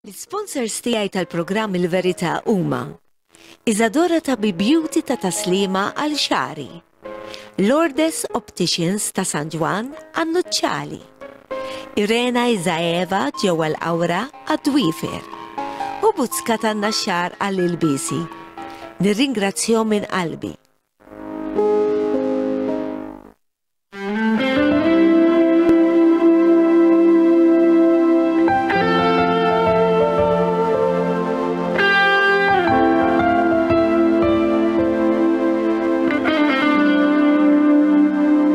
L-isponsors tiegħi tal-programm Il-Verità huma Isadora ta' Be Beauty ta' Taslima għal xagħri, Lourdes Opticians ta' San Ġwann għan-nuċċali, Irena Izaeva ġewwa l-Qawra għad-dwiefer u Buzzka tan-Naxxar għall-ilbiesi. Nirringrazzjahom minn qalbi.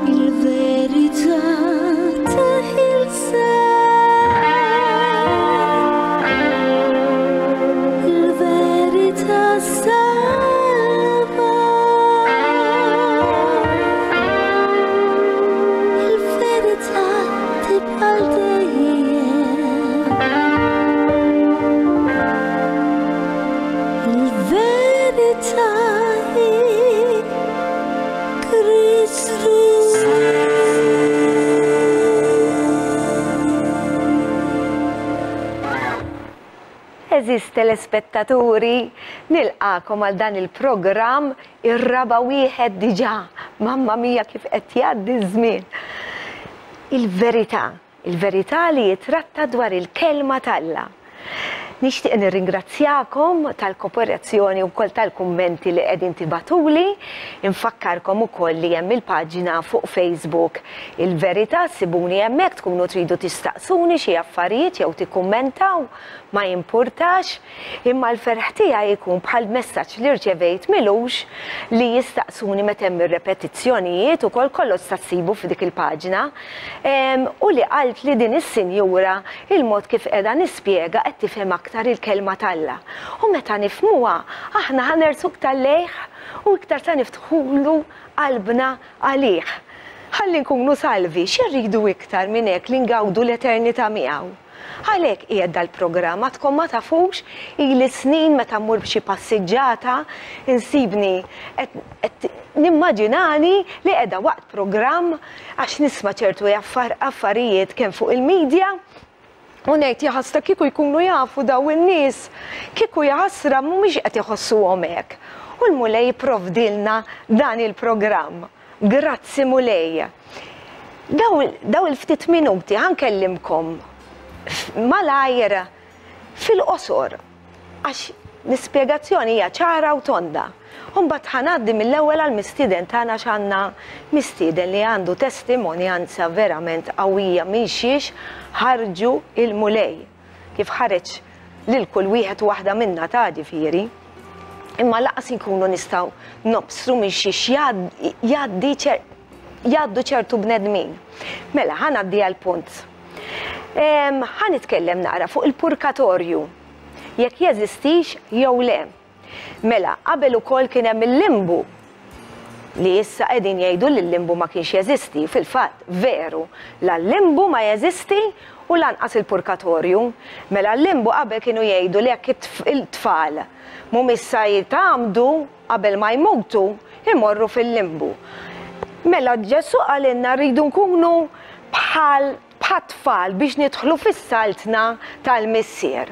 Il-verità teħilsa Il-verità salva Il-verità tibqa' dejjem. Il-verità hi Kristu. Għeżież telespettaturi, nilqagħkom għal dan il-programm ir-raba' wieħed diġà. Mamma mia kif qed jgħaddi ż-żmien. Il-verità, il-verità li jitratta dwar il-kelma t'Alla. Nixtieq nirringrazzjakom tal-kooperazzjoni wkoll tal-kummenti li qegħdin tibagħtuli. Infakkarkom ukoll li hemm il-paġna fuq Facebook Il-Verità, ssibuni hemmhekk tkunu tridu tistaqsuni xi affarijiet jew tikkummentaw. Ma jimpurtax, imma l-ferħ tiegħi jkun bħal messaġġ li rċevejt m'ilux li jistaqsuni meta hemm ir-repetizzjonijiet ukoll kollox sa ssibu f'dik il-paġna u li qaltli din is-sinjura il-mod kif qiegħda nispjega qed tifhem aktar il-kelma t'Alla. U meta nifhmuha aħna ħa nersqu iktar lejh u iktar sa niftħulu qalbna għalih. Ħalli nkunu salvi, xi rridu iktar minn hekk li ngawdu l-eternità miegħu? Għalhekk qiegħed dal-programm, għadkom ma tafux, ili snin meta mmur b'xi passiġġata insibni qed nimmaġinani li qiegħda waqt programm għax nisma' ċertu affarijiet kemm fuq il-media u ngħid jaħasra kieku jkunu jafu dawn in-nies, kieku jaħasra mhumiex qed iħossuhom hekk. U l-Mulej ipprovdielna dan il-programm. Grazzi Mulej. Daw il-ftit minuti ħa nkellimkom malajr fil-qosor għax l-ispjegazzjoni hija ċara u tonda. U mbagħad ħa ngħaddi mill-ewwel għall-mistieden tagħna għax għandna mistieden li għandu testimonjanza verament qawwija minn xiex ħarġu il-Mulej. Kif ħareġ lil kull wieħed u waħda minna ta' ġifieri. Imma laqas inkunu nistgħu nobsru minn xiex jgħaddi jgħaddu ċertu bnedmin. Mela, ħa ngħaddi għall-punt. Ħa nitkellem naqra fuq il-purkatorju, jekk jeżistix jew le. Mela, qabel ukoll kien hemm il-limbu li issa qegħdin jgħidu li l-limbu ma kienx jeżisti. Fil-fatt, veru, la l-limbu ma jeżisti u lanqas il-purkatorju. Mela l-limbu qabel kienu jgħidu li jekk it-tfal mhumiex sa jitgħammdu qabel ma jmutu, imorru fil-limbu. Mela Ġesù qalilna rridu nkunu bħal bħat-tfal biex nidħlu fis-saltna tal-Missier.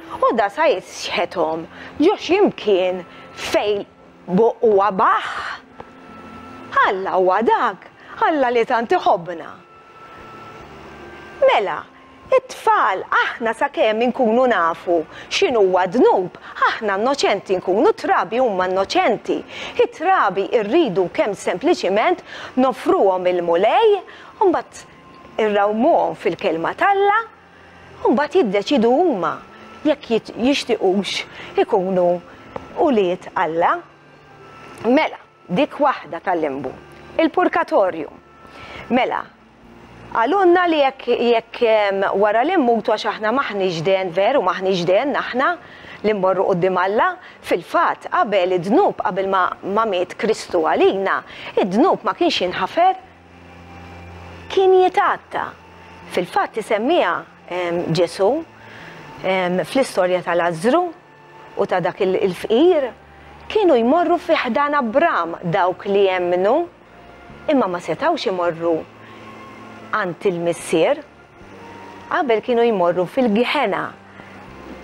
U da sa jisħethom ġo xi mkien fejn huwa baħħ. Alla huwa dak, Alla li tant iħobbna. Mela, it-tfal aħna sakemm inkunu nafu x'inhuwa d-dnub, aħna innoċenti nkunu, t-trabi huma innoċenti. It-trabi rridu kemm sempliċiment noffruhom il-Mulej, u mbagħad irrawmuhom fil-Kelma t'Alla u mbagħad jiddeċiedu huma jekk jixtiqux ikunu ulied Alla. Mela, dik waħda tal-limbu. Il-purkatorju. Mela, qalulna li jekk jekk wara li mmutu għax aħna m'aħniex den veru m'aħniex den aħna li mmorru quddiem Alla, fil-fatt qabel id-dnub qabel ma ma miet Kristu għalina, id-dnub ma kienx jinħafer. Kien jitgħatta. Fil-fatt isemmiha Ġesù fl-istorja ta' Lażżru u ta' dak il-fqir, kienu jmorru fi ħdan Abram dawk li emmnu, imma ma setgħux imorru għand il-Missier. Qabel kienu jmorru fil-Geħena.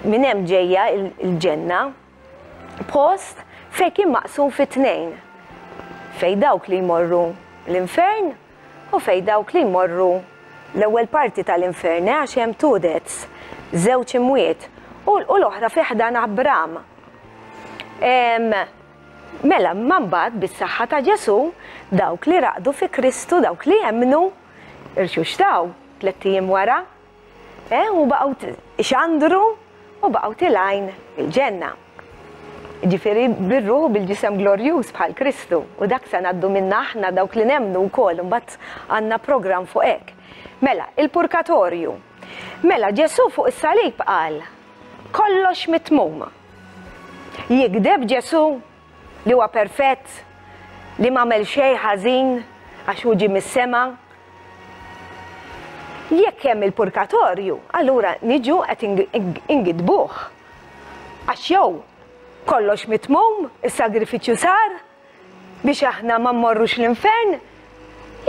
Minn hemm ġejja l-ġenna. Post fejn kien maqsum fi tnejn. Fejn dawk li jmorru l-infern u fejn dawk li jmorru l-ewwel parti tal-infern, eh, għax hemm two deaths, żewġ imwiet, u l-oħra fi ħdan Abram. Mela, imma mbagħad bis-saħħa ta' Ġesù, dawk li raqdu fi Kristu, dawk li emmnu, irxuxtaw tlett ijiem wara, eh, u baqgħu ixandru u baqgħu tilgħin il-ġenna. Ġifieri bir-ruħ u bil-ġisem glorjuż bħal Kristu, u dak se ngħaddu minna aħna dawk li nemmnu wkoll, imbagħad għandna programm fuq hekk. Mela, il-purkatorju. Mela, Ġesù fuq is-salib qal, kollox mitmum. Jigdeb Ġesù, li huwa perfett, li m'għamel xejn ħażin għax hu ġie mis-sema? Jekk hemm il-purkatorju, allura niġu qed ingidbuh. Għax jew kollox mitmum, is-sagrifiċċju sar, biex aħna ma mmorrux l-infern,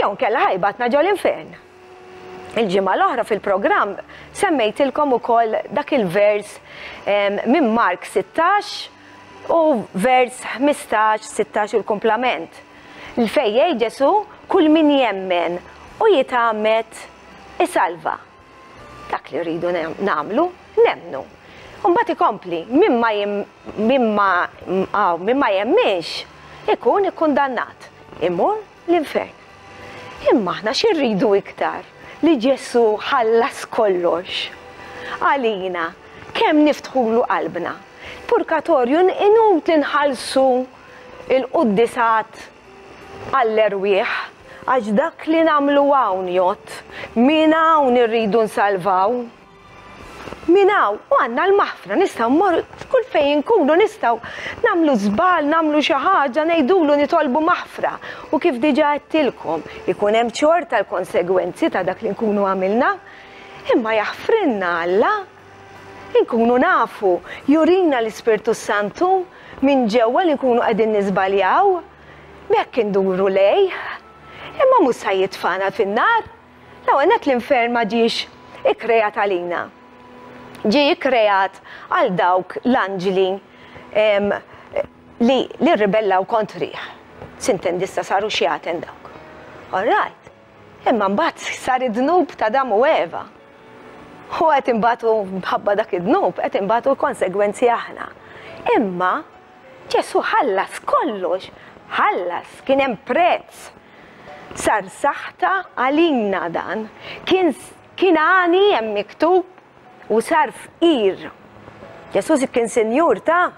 jew inkella ħa jibgħatna ġol-infern. Il-ġimgħa l-oħra fil-programm semmejtilkom ukoll dak il-vers minn Mark 16 u vers 15, 16 u l-kumplament. Li fejn jgħid Ġesù kull min jemmen u jitgħammed isalva. Dak li rridu nagħmlu, nemmnu. U mbagħad ikompli, min ma min ma min ma jemminx ikun ikkundannat, imur l-infern. Imma aħna xi rridu iktar li Ġesù ħallas kollox għalina, kemm niftħulu qalbna. Purkatorju inutli nħallsu l-quddisat għall-erwieħ għax dak li nagħmlu hawn jgħodd, minn hawn irridu nsalvaw. Minn hawn, u għandna l-maħfra, nistgħu mmorru kull fejn inkunu nistgħu nagħmlu żball, nagħmlu xi ħaġa, ngħidulu nitolbu maħfra. U kif diġà għedtilkom, ikun hemm xorta l-konsegwenzi ta' dak li nkunu għamilna. Imma jaħfrilna Alla. Inkunu nafu, jurina l-Ispirtu s-Santu minn ġewwa li nkunu qegħdin niżbaljaw. B'hekk induru lejh. Imma mhux sa jitfagħna fin-nar. L-ewwel nett l-infern ma ġiex ikkreat għalina. Ġie ikkreat għal dawk l-anġli li li rribellaw kontrih. Sintendi issa saru xjaten dawk. All right. Imma mbagħad sar id-dnub t'Adam u Eva. U qed inbatu mħabba dak id-dnub, qed inbatu l-konsegwenzi aħna. Imma Ġesù ħallas kollox, ħallas, kien hemm prezz. Sar saħta għalina dan. Kien kien għani hemm miktub u sar fqir. Ġesù kien sinjur ta'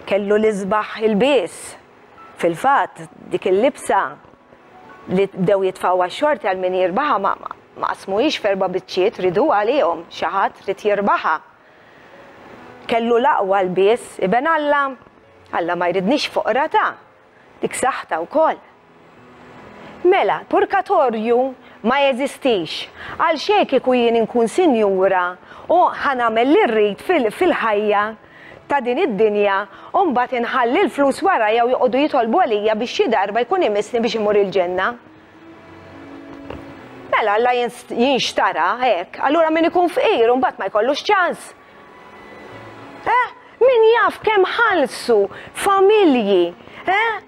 kellu l-isbaħ ilbies. Fil-fatt, dik il-libsa li bdew jitfgħuha x-xorti għal min jirbaħha ma ma qasmuhiex f'erba' biċċiet, riduha għalihom, xi ħadd ried jirbaħha. Kellu l-aqwa lbies, Iben Alla. Alla ma jridniex foqra ta'. Dik saħta wkoll. Mela, purkatorju ma jeżistix. Għalxejn kieku jien inkun sinjura u ħa nagħmel li rrid fil-ħajja ta' din id-dinja u mbagħad inħalli l-flus warajja u joqogħdu jitolbu għalija biex xi darba jkun imissni biex immur il-ġenna. Mela Alla jinxtara hekk, allura min ikun fqir u mbagħad ma jkollux ċans. Eh? Min jaf kemm ħallsu familji, eh?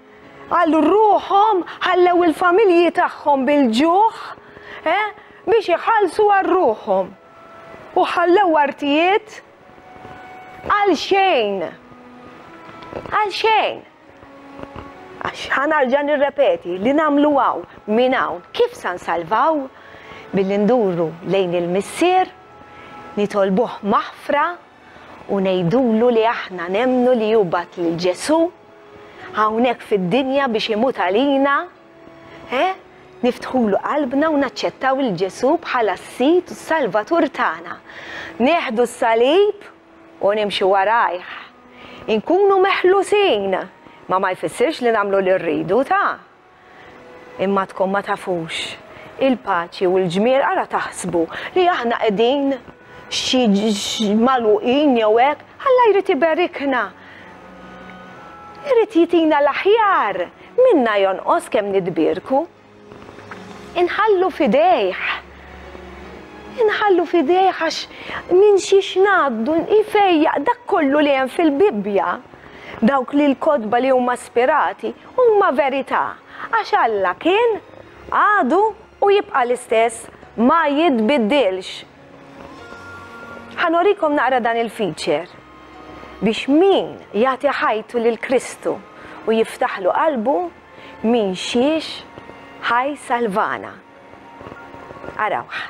Għal ruħhom ħallew il-familji tagħhom bil-ġuħ, eh? Biex iħallsu għal ruħhom. U ħallew artijiet għal xejn. Għal xejn. Għax ħa narġa' nirrepeti li nagħmlu hawn minn hawn kif sa nsalvaw? Billi nduru lejn il-Missier, nitolbuh maħfra u ngħidulu li aħna nemmnu li hu bagħat lil Ġesù hawnhekk fid-dinja biex imut għalina, eh? Niftħulu qalbna u naċċettaw lil Ġesù bħala s-Sid u s-Salvatur tagħna. Nieħdu s-salib u nimxu warajh. Inkunu meħlusin, ma ma jfissirx li nagħmlu li rridu, ta. Imma tkun ma tafux il-paċi u l-ġmiel ara taħsbu li aħna qegħdin xi magħluqin jew hekk, Alla jrid iberikna. Irid jitina l-aħjar, minna jonqos kemm nitbierku. Inħallu f'idejh. Inħallu f'idejh għax minn xiex ngħaddu jfejjaq dak kollu li hemm fil-Bibbja. Dawk li l-kotba li huma spirati huma verità għax Alla kien, għadu u jibqa' l-istess, ma jitbiddilx. Ħa nurikom naqra dan il-feature biex min jagħti ħajtu lil Kristu u jiftaħlu qalbu min xiex ħa jsalvana. Arawh.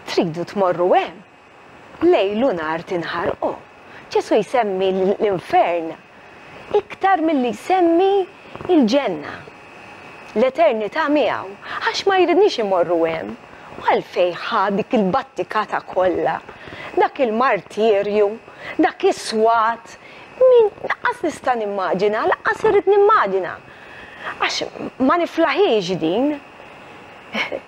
Tridu tmorru hemm? Lejl u nhar tinħarqu. Ġesù jsemmi l-infern iktar milli jsemmi l-ġenna, l-eternità miegħu, għax ma jridniex immorru hemm. U għalfejn ħa dik il-battikata kollha, dak il-martirju, dak is-swat, min lanqas nista' nimmaġina, lanqas irrid nimmaġina. Għax ma niflaħiex din.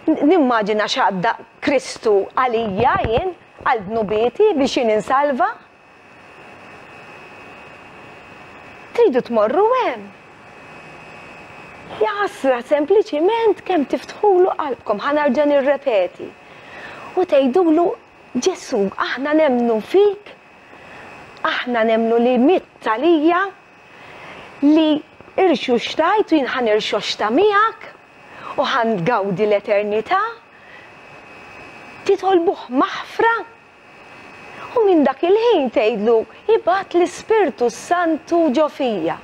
Nimmaġina x'għadda Kristu għalija jien, għal dnubieti biex jien insalva. Tridu tmorru hemm. Jaħasra sempliċiment kemm tiftħulu qalbkom, ħa nerġa' nirrepeti. U tgħidulu Ġesù, aħna nemmnu fik, aħna nemmnu li mitt għalija, li irxuxtajt u jien ħa nirxoxta miegħek u ħa ngawdi l-eternità. Titolbuh maħfra U minn dak il-ħin tgħidlu, Ibgħat l-Ispirtu s-Santu ġo fija.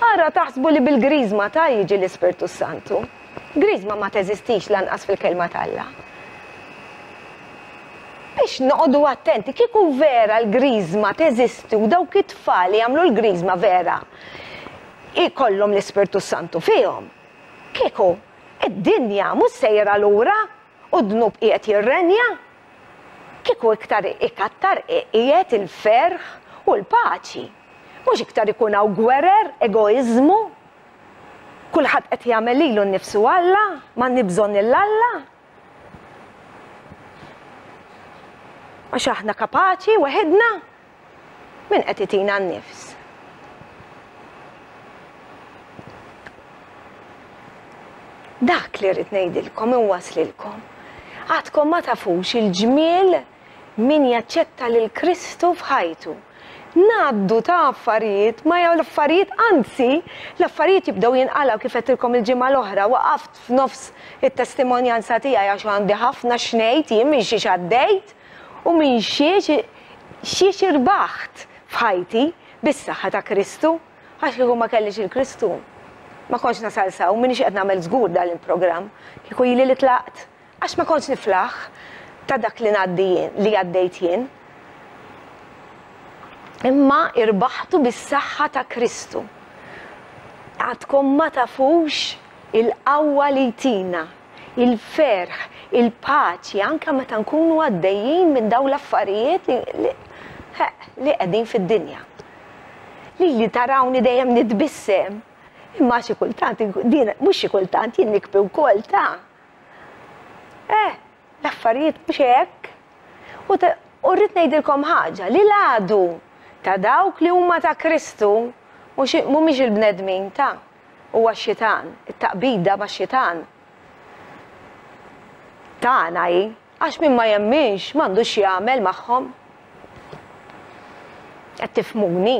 Ara taħsbu li bil-griżma ta' jiġi l-Ispirtu s-Santu. Griżma ma teżistix lanqas fil-Kelma t'Alla. Biex noqogħdu attenti, kieku vera l-griżma teżisti u dawk it-tfal li jagħmlu l-griżma vera jkollhom l-Ispirtu s-Santu fihom, kieku id-dinja mhux sejra lura u d-dnub qiegħed jirrenja. Kieku iktar ikattar qiegħed il-ferħ u l-paċi. Mhux iktar ikun hawn gwerer, egoiżmu. Kulħadd qed jagħmel lilu nnifsu Alla, m'għandni bżonn lil Alla. Għax aħna kapaċi weħidna. Min qed itina n-nifs? Dak li rrid ngħidilkom inwaslilkom. Għadkom ma tafux il-ġmiel min jaċċetta lil Kristu f'ħajtu. Ngħaddu ta' affarijiet, ma jew l-affarijiet, anzi, l-affarijiet jibdew jinqalgħu kif għedtilkom il-ġimgħa l-oħra, waqaft f'nofs it-testimonjanza tiegħi għax għandi ħafna x'ngħid jien minn xiex għaddejt u minn xiex xiex irbaħt f'ħajti bis-saħħa ta' Kristu. Għax kieku ma kellix il-Kristu, ma kontx nasal s'hawn, m'iniex qed nagħmel żgur dan il-programm, kieku ili li tlaqt. Għax ma kontx niflaħ ta' dak li ngħaddi jien, li għaddejt jien. Imma irbaħtu bis-saħħa ta' Kristu. Għadkom ma tafux il-qawwa li jtina, il-ferħ, il-paċi, anke meta nkunu għaddejjin minn dawn l-affarijiet li li qegħdin fid-dinja. Lili tarawni dejjem nitbissem, imma xi kultant, din mhux xi kultant, jien nikbi wkoll ta'. Eh, l-affarijiet mhux hekk. U u rrid ngħidilkom ħaġa, li l-għadu ta' dawk li huma ta' Kristu mhux mhumiex il-bnedmin ta' huwa x-xitan, it-taqbida max-xitan. Tagħna hi, għax min ma jemminx m'għandux x'jagħmel magħhom. Qed tifhmuni?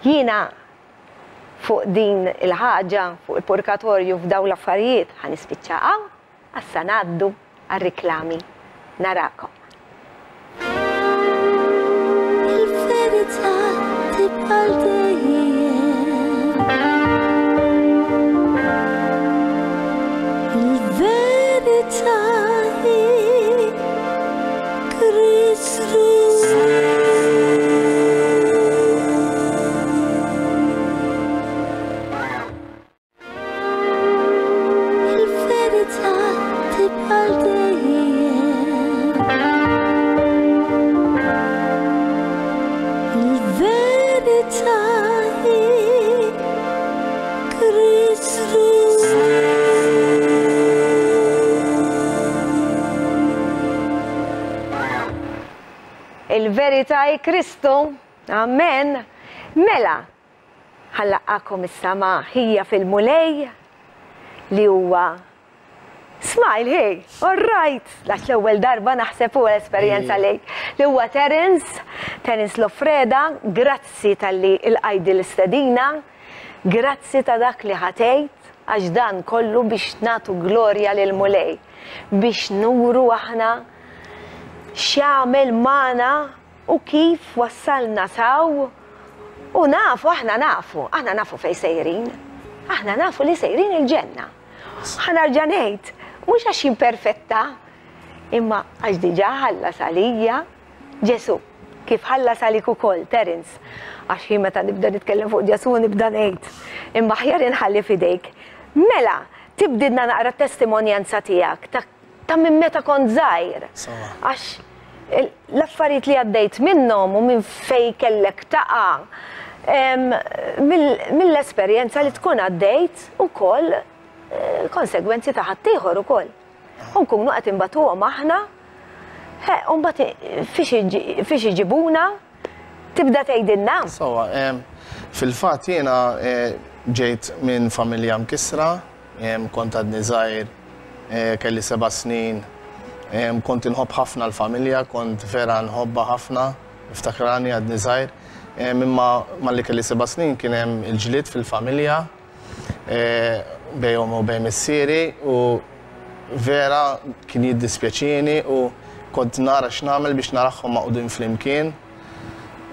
Jiena fuq din il-ħaġa, fuq il-purkatorju f'dawn l-affarijiet ħa nispiċċa hawn, issa ngħaddu għar-riklami. Narakom. Il-verità tibqa' dejjem. Il-verità hi Kristu. Il-verità tibqa' dejjem. Il-verità hi Kristu. Il-verità hi Kristu. Amen. Mela, Ħa nlaqqagħkom issa ma' ħija fil-Mulej li huwa Smile, hey, all right, għax l-ewwel darba naħseb huwa esperjenza lejk. Li huwa Terence, Terence Lofreda, grazzi talli lqajt din l-istedina, grazzi ta' dak li ħa tgħid, għax dan kollu biex nagħtu glorja lill-Mulej, biex nuru aħna x'għamel magħna U kif wassalna s'hawn? U nafu, aħna nafu, aħna nafu fejn sejrin. Aħna nafu li sejrin il-ġenna. Ħa nerġa' ngħid, mhux għax jien perfetta, imma għax diġà ħallas għalija Ġesù, kif ħallas għalik ukoll, Terence. Għax jien meta nibda nitkellem fuq Ġesù nibda ngħid, imma aħjar inħalli f'idejk. Mela, tibdilna naqra t-testimonjanza tiegħek ta' ta' minn meta kont żgħir. Għax l-affarijiet li għaddejt minnhom u minn fejn kellek taqa' mill-esperjenza li tkun għaddejt ukoll eh, konsegwenzi ta' ħaddieħor ukoll. U nkunu qed inbatuhom aħna, u mbagħad fiex iġibuna tibda tgħidilna. Sawa, fil-fatt jiena eh, ġejt minn familja mkissra, Kont għadni żgħir, kelli seba' snin. Kont inħobb ħafna l-familja, kont vera nħobbha ħafna, niftakrani għadni żgħir. Imma malli kelli seba' snin kien hemm il-ġlied fil-familja bejn ommi u bejn missieri u vera kien jiddispjaċini u kont nara x'nagħmel biex narahom magħqudin flimkien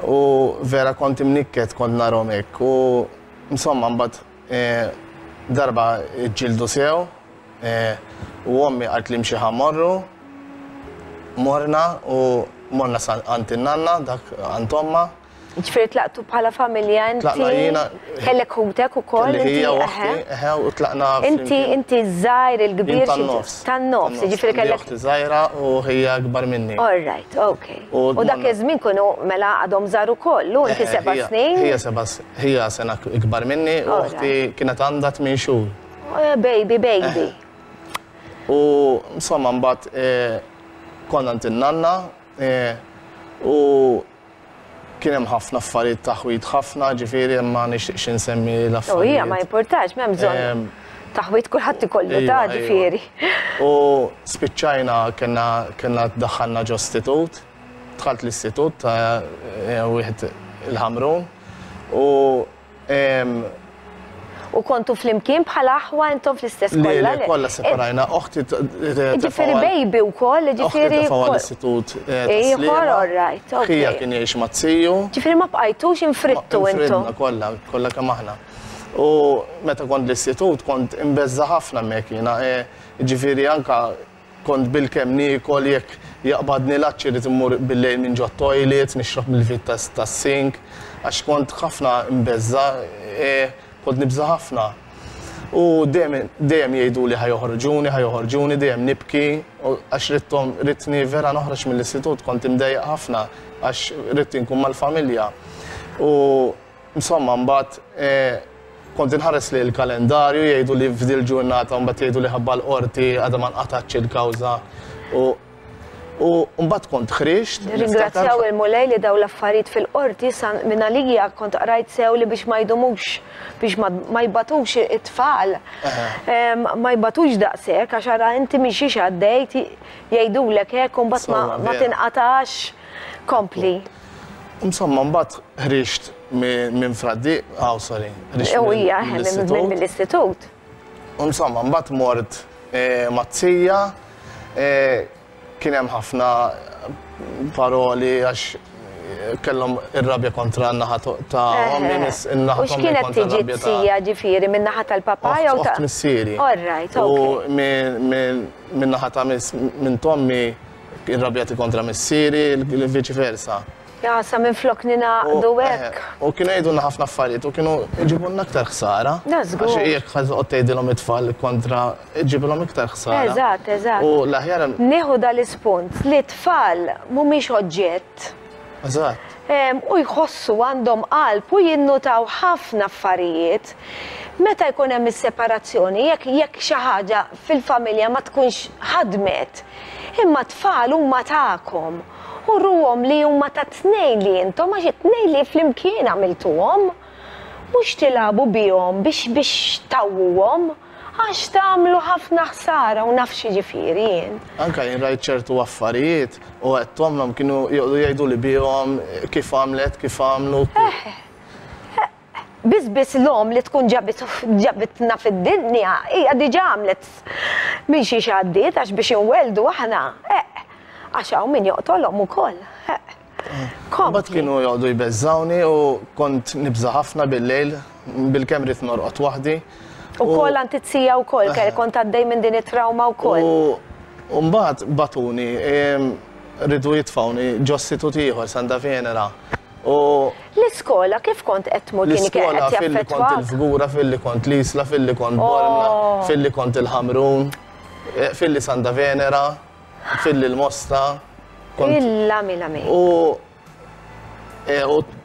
u vera kont imnikket kont narahom hekk u insomma mbagħad Darba ġġieldu sew u ommi qaltli imxi ħa mmorru. Morna u morna sa għand in-nanna, dak għand ommha. Ġifieri tlaqtu bħala familja inti. Tlaqna jiena. Kellek ħutek ukoll. Kelli ħija u oħti, eħe, u tlaqna. Inti inti ż-żgħir il-kbir. Jien tan-nofs. Tan-nofs, jiġifieri kellek. Oħti żgħira u ħija akbar minni. All right, okay. U dak iż-żmien kienu mela għadhom żgħar ukoll, u inti seba' snin. Ħija seba' Hija sena ikbar minni u oħti kienet għandha tmien xhur. Baby, baby. U insomma mbagħad konna għand in-nanna u kien hemm ħafna affarijiet taħwid ħafna, ġifieri ma nixtieqx insemmi l-affarijiet. U hija ma jimpurtax, m'hemm bżonn. Taħwid kulħadd ikollu ta' ġifieri. U spiċċajna kellna kellna ddaħħalna ġo istitut. dħalt l-istitut ta' wieħed il-Ħamrun u U kontu flimkien bħala aħwa intom fl-istess kollha? Le, kollha separajna. Oħti Ġifieri baby wkoll, ġifieri. Oħti l-istitut. Ieħor, all right. Ħija kien jgħix ma' ziju. Ġifieri ma bqajtux infrittu intom. Kollha, kollha kemm aħna. U meta kont l-istitut kont imbeżża' ħafna hemmhekk jiena, ġifieri anka Kont bilkemm niekol, jekk jaqbadni l-għatx irrid immur bil-lejl minn ġot-toilet, nixrob mill-vit tas-sink, għax kont ħafna mbeżża', kont nibża' ħafna. U dejjem dejjem jgħiduli ħa joħorġuni, ħa joħorġuni, dejjem nibki, għax ridthom ridtni vera noħroġ mill-istitut, kont imdejjaq ħafna għax ridt inkun mal-familja. U Insomma mbagħad kont inħares lejn il-kalendarju jgħidu li f'dil ġurnata mbagħad jgħidu li ħabba l-qorti għadha ma nqatgħatx il-kawża u u mbagħad kont ħriġt. Nirringrazzjaw il-Mulej li daw l-affarijiet fil-qorti sa minn għalija kont qrajt sew li biex ma jdumux biex ma jbatux it-tfal ma jbatux daqshekk għax ara inti minn xiex għaddejt jgħidulek hekk u mbagħad ma tinqatax kompli. Insomma, mbagħad ħriġt minn Fraddi, aw sorry, ħriġt mill-istitut. Insomma, mbagħad mort eh, mazzija, eh, kien hemm ħafna paroli għax eh, kellhom ir-rabja kontra n-naħa ta' ommi, in-naħa ta' ommi kontra r-rabja ta' ġiet ġifieri min-naħa tal-papà jew ta' missieri. All right, U minn naħa ta' minn tommi Irrabjati kontra missieri, viċi versa. Ja, sa minn flok ninaqdu eh, hekk. U kienu jgħidulna ħafna affarijiet u kienu jġibulna aktar ħsara. Għax jekk ħażoqgħod tgħidilhom it-tfal kontra ġibilhom iktar ħsara. Eżatt, eżatt. U l-aħjar. Nieħu dal-ispunt li t-tfal mhumiex oġġett. Eżatt. U jħossu għandhom qalb u jinnutaw ħafna affarijiet. Meta jkun hemm is-separazzjoni, jekk jekk xi ħaġa fil-familja ma tkunx ħadmet, imma t-tfal huma tagħkom. Uruhom li huma tat-tnejn li intom għax it-tnejn li flimkien għamiltuhom. Mhux tilagħbu bihom biex biex tgħawwuhom. Għax tagħmlu ħafna ħsara u naf x'jiġifieri jien. Anke jien rajt ċertu affarijiet u għedthomlhom kienu joqogħdu jgħiduli bihom kif għamlet, kif għamlu. Eħ. Biss biss l-omm li tkun ġabitna fid-dinja hija diġà għamlet minn xiex għaddiet għax biex inwelldu aħna, eħ. Għax hawn min joqtolhom ukoll, eħ. Mbagħad kienu joqogħdu jbeżżgħuni u kont nibża' ħafna bil-lejl, bilkemm ridt norqod waħdi. Ukoll għand it-tija wkoll, kont għaddej minn din it-trawma wkoll. U mbagħad bagħtuni, riedu jitfgħuni ġo istitut ieħor, Santa Venera. U L-iskola kif kont qed tmur kien qed jaffettwak? L-iskola filli kont il-Fgura, filli kont l-Isla, filli kont Bormla, filli kont il-Ħamrun, filli Santa Venera. Filli l-Mosta. Illa mila mi. U e,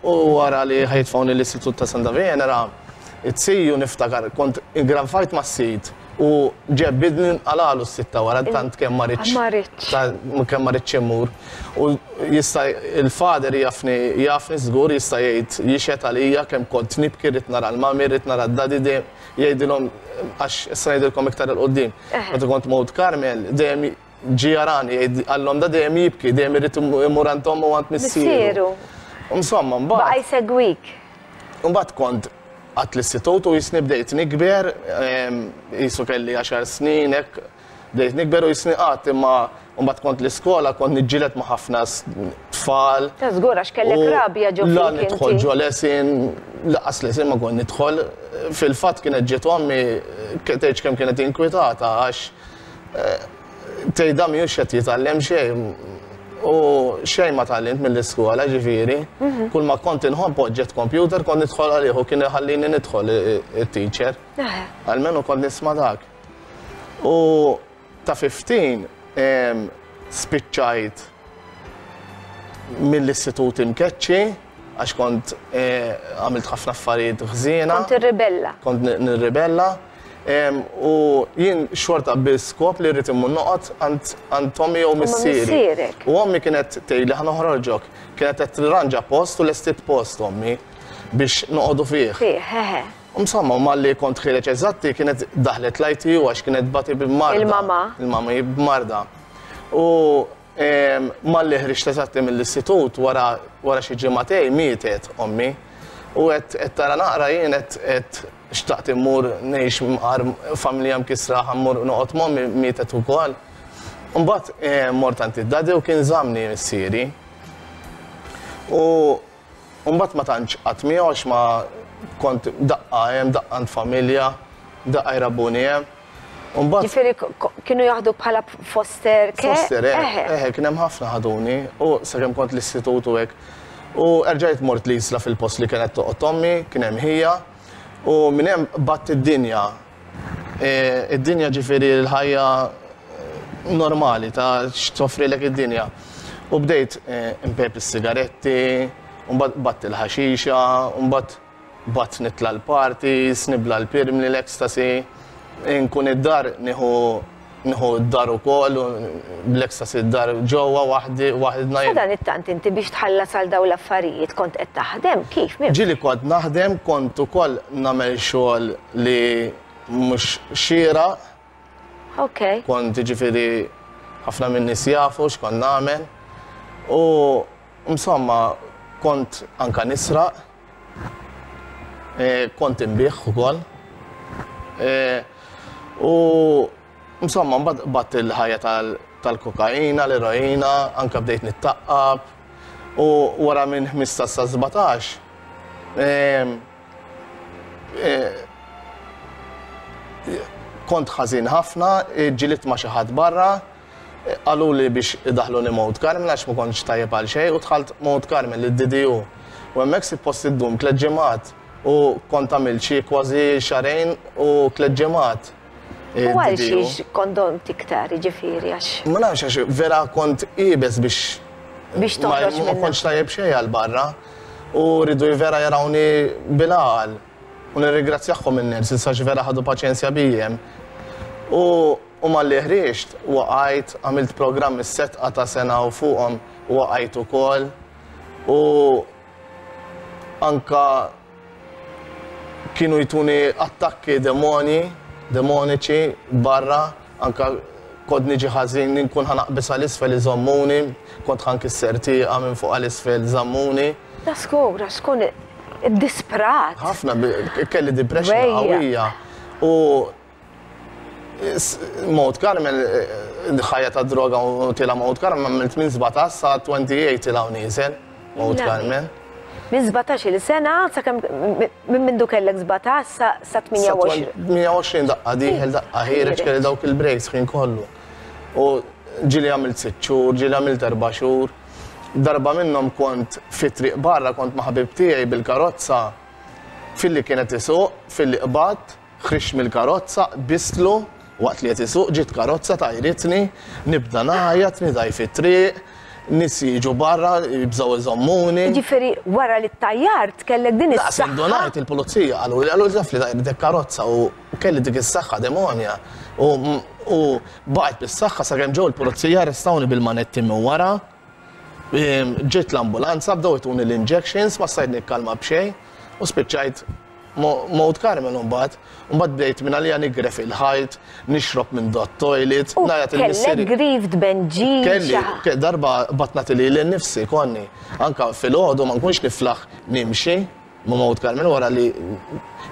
u wara li ħajtfawni l-Istitut ta' Santa Venera, it-siju niftakar kont ingranfajt ma' sid u ġebbidni nqalalu s-sitta wara tant kemm ma ridx. Ma ridx. Kemm ma ridx immur. U jista' il-fader jafni jafni żgur jista' jgħid jixhed għalija kemm kont nibki rrid nara l-mami, rrid nara d-dadi dejjem jgħidilhom għax issa ngħidilkom iktar 'il quddiem. Meta kont Mount Carmel dejjem ġie jarani jgħid għallhom da dejjem jibki, dejjem irid imur għand ommu u għand missieru. Insomma, mbagħad. Baqa' jsegwik. Mbagħad kont għat l-istitut u jisni bdejt nikber, jisu kelli għaxar snin hekk, Bdejt nikber u jisni qatt imma mbagħad kont l-iskola kont niġġieled ma' ħafna tfal. Ta' żgur għax kellek rabja ġo fik. La nidħol ġo lesin, laqas lesin ma kont nidħol. Fil-fatt kienet ġiet ommi tgħidx kemm kienet inkwitata għax eh, tgħid dan mhux qed jitgħallem xejn. U xejn ma tgħallimt mill-iskola ġifieri. Mhm. Kull ma kont inħobb oġġett computer kont nidħol għalih u kien iħallini nidħol it-teacher. Almenu kont nisma' dak. U ta' 15 spiċċajt mill-istitut imkeċċi għax kont eh, għamilt ħafna affarijiet ħżiena. Kont irribella. Kont nirribella. U jien xorta bil-skop li rrid immur noqgħod għand ommi jew missieri. U ommi kienet tgħidli ħa noħroġok. Kienet qed tirranġa post u lestiet post ommi biex noqogħdu fih. Fih, eħe. Insomma, malli kont ħiereġ eżatti kienet daħlet l-ITU għax kienet tbati b'marda. Il-mama. Il-mama b'marda. U. Malli ħriġt eżatti mill-istitut wara wara xi ġimagħtejn mietet ommi. U qed qed tara naqra jien qed qed xtaqt immur ngħix mqar familja mkissra ħa mmur noqgħod m'ommi mietet ukoll. Imbagħad mort għand id-daddy u kien żammni missieri. U mbagħad ma tantx qatt miegħu għax ma kont daqqa hemm, daqqa għand familja, daqqa jrabbuni hemm. Mbagħad Ġifieri kienu jaħduk bħala foster care? Foster, eh, eh, kien hemm ħafna ħaduni u sakemm kont l-istitut u hekk. U erġajt mort l-Isla fil-post li kienet toqgħod ommi, kien hemm ħija, u minn hemm batt id-dinja. E, id-dinja ġifieri l-ħajja normali ta' x'toffrilek id-dinja. U bdejt e, impejp is-sigaretti, u mbagħad batt il-ħaxixa, u mbagħad Bgħadt nitla' l-parties, nibla' l-pirmli, l-ecstasy, inkun id-dar nieħu nieħu d-dar ukoll, bl-ecstasy d-dar ġewwa waħdi waħidna. Sadanittant inti biex tħallas għal dawn l-affarijiet kont qed taħdem? Kif? Minn Ġieli kont naħdem, kont ukoll nagħmel xogħol li mhux xieraq. Ok. Kont jiġifieri ħafna min-nies jafu x'kont nagħmel. U insomma kont anke nisraq. Eh, kont inbigħ ukoll. Eh, u insomma, mbagħad batt il-ħajja tal-kokaina, l-eroina, anka bdejt nittaqqab. U wara minn 15 sa 17, eh, kont ħażin ħafna, ġilidt ma' xi ħadd barra, Qaluli biex idaħħluni Mount Carmel għax ma kontx tajjeb għal xejn u dħalt Mount Carmel, id-DDU. U hemmhekk suppost iddum tliet ġimgħat u kont għamilt xi kważi xahrejn u tliet ġimgħat. U għal xiex kont domt iktar, jiġifieri għax. Ma nafx għax vera kont iebes biex. Biex toħroġ Ma kontx tajjeb xejn għal barra u riedu vera jarawni bil-għaqal. U nirringrazzjahom in-nurses għax vera ħadu paċenzja bija hemm. U u malli ħriġt, waqajt, għamilt programm is-setqa ta' sena u fuqhom waqajt ukoll. U anka kienu jtuni attakki demoni, demoniċi barra, anka kont niġi ħażin inkun ħa naqbeż għal isfel iżommuni, kont ħa nkisser tieqa minn fuq għal isfel żammuni. Da żgur, għax tkun iddisprat. Ħafna, kelli depression qawwija. U Mount Carmel, ħajja ta' droga u tila Mount Carmel, għamilt minn 17 sa 28 tila u nieżel Mount Carmel. Minn 17 il sena, sakemm minn mindu kellek 17 sa 28. 28 daqqa dieħel, daqqa ħiereġ, kelli dawk il-breaks ħin kollu. U ġieli għamilt 6 xhur, ġieli għamilt 4 xhur. Darba minnhom kont fit-triq barra, kont ma' ħabib tiegħi bil-karozza, filli kien qed isuq, filli qbadt, ħriġt mill-karozza, qbistlu waqt li qed isuq, ġiet karozza tajritni, nibda ngħajjat, nidgħi fit-triq, nies jiġu barra, jibżgħu iżommuni. Jiġifieri wara li ttajjart kellek din is-saħħa. Daqs indunajt il-pulizija qaluli, qaluli taf li tajritek karozza u kelli dik is-saħħa demonja u u baqgħet bis-saħħa sakemm ġew il-pulizija arrestawni bil-manetti minn wara. Ġiet l-ambulanza, bdew ituni l-injections, ma stajt nikkalma b'xejn u spiċċajt Mount Carmel imbagħad. Imbagħad bdejt minn għalija nigref il-ħajt, nixrob minn dot toilet, ngħajjat il missieri. Kellek grief tbenġil? Kelli, darba bgħadt nagħti lili nnifsi konni. Anke filgħodu ma nkunx niflaħ nimxi ma' Mount Carmel wara li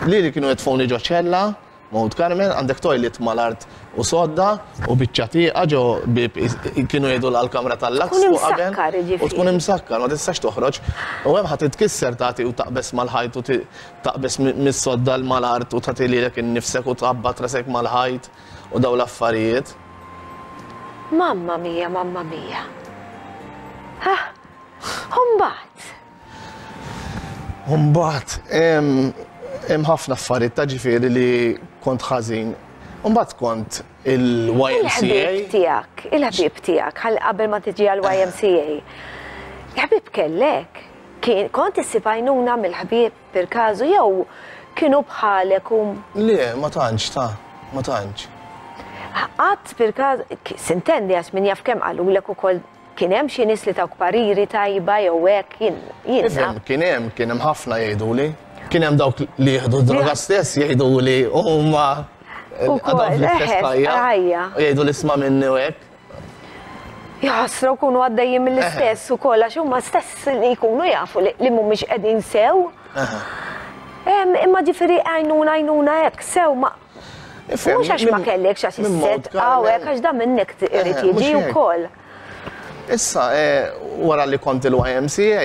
lili kienu jitfgħuni ġo ċella Mount Carmel, għandek toilet mal-art u sodda u biċċa tieqa ġo bieb kienu jgħidulha l-kamra tal-laks fuq qabel. Tkun imsakkar jiġifieri. U tkun imsakkar, ma tistax toħroġ. U hemm ħa titkisser tagħti u taqbeż mal-ħajt u taqbeż mis-sodda mal-art u tagħti lilek innifsek u tħabbat rasek mal-ħajt u dawn l-affarijiet. Mamma mia, mamma mia. Ha! U mbagħad? U mbagħad hemm ħafna affarijiet ta' ġifieri li kont ħażin. U mbagħad kont il-YMCA. Il-ħbieb tiegħek, il-ħbieb tiegħek, ħalli qabel ma tiġi għall-YMCA. Il-ħbieb kellek? Kien kont issib għajnuna mill-ħbieb per każu jew kienu bħalek u. Le, ma tantx ta, ma tantx. Qatt per każ, sintendi għax min jaf kemm qalulek ukoll Kien hemm xi nies li tawk pariri tajba jew hekk, jien jien naf. Ifhem, kien hemm, kien hemm ħafna jgħiduli. Kien hemm dawk li jieħdu d-droga stess jgħiduli u huma għadhom fl-istess ħajja. Jgħidu li isma' minni u hekk. Jaħasra jkunu għaddejjin mill-istess ukoll għax huma stess li jkunu jafu li mhumiex qegħdin sew. Imma ġifieri għajnuna għajnuna hekk sew ma Mhux għax ma kellekx għax is-set hawnhekk għax da minnek irid jiġi wkoll. Issa, wara li kont il-YMCA,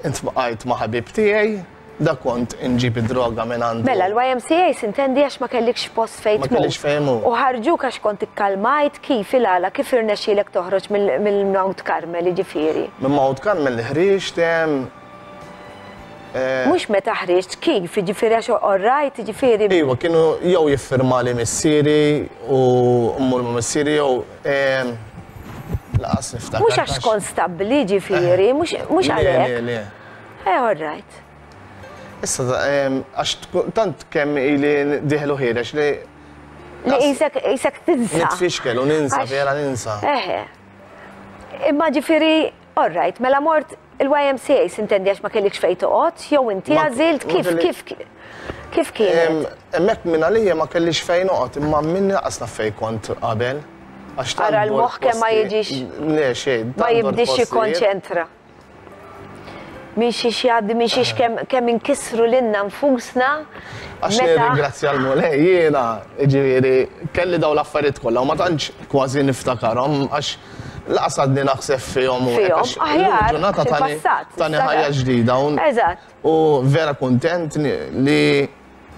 intbaqajt ma' ħabib tiegħi, da kont inġib id-droga minn għandu. Mela, l-YMCA sintendi għax ma kellikx post fejn tmur. Ma kellix fejn immur. U ħarġuk għax kont ikkalmajt, kif, il-għala, kif irnexxielek toħroġ mill Mount Carmel, jiġifieri? Minn Mount Carmel ħriġt hemm. Mhux meta ħriġt, kif, jiġifieri għax orrajt, jiġifieri. Iva, kienu jew jiffirmali missieri u mmur ma' missieri jew laqas niftakar. Mhux għax kont stabbli, jiġifieri, mhux għalhekk. Le, le, le. Eh, all right. Issa, għax tant kemm ili diħlu ħireġ li. Li jisek, jisek tinsa. Nitfixkel u ninsa, vera ninsa. Eħe. Imma ġifiri, all right, mela mort il-YMCA sintendi għax ma kellikx fejn toqgħod, jew inti għażilt kif kif kif kien? Hemmhekk minn għalija ma kellix fejn noqgħod, imma minn naqas naf fejn kont qabel. Għax Ara l-moħħ kemm ma jiġix. Le xejn. Ma jibdix jikkonċentra. Minn xiex jgħaddi, minn xiex kemm kemm inkissru lilna nfusna. Għax nirringrazzja l-Mulej jiena, ġifieri, kelli dawn l-affarijiet kollha u ma tantx kważi niftakarhom għax laqas għadni naħseb fihom u Fihom, aħjar, ġurnata tani tani ħajja ġdida. Eżatt. U vera kuntent li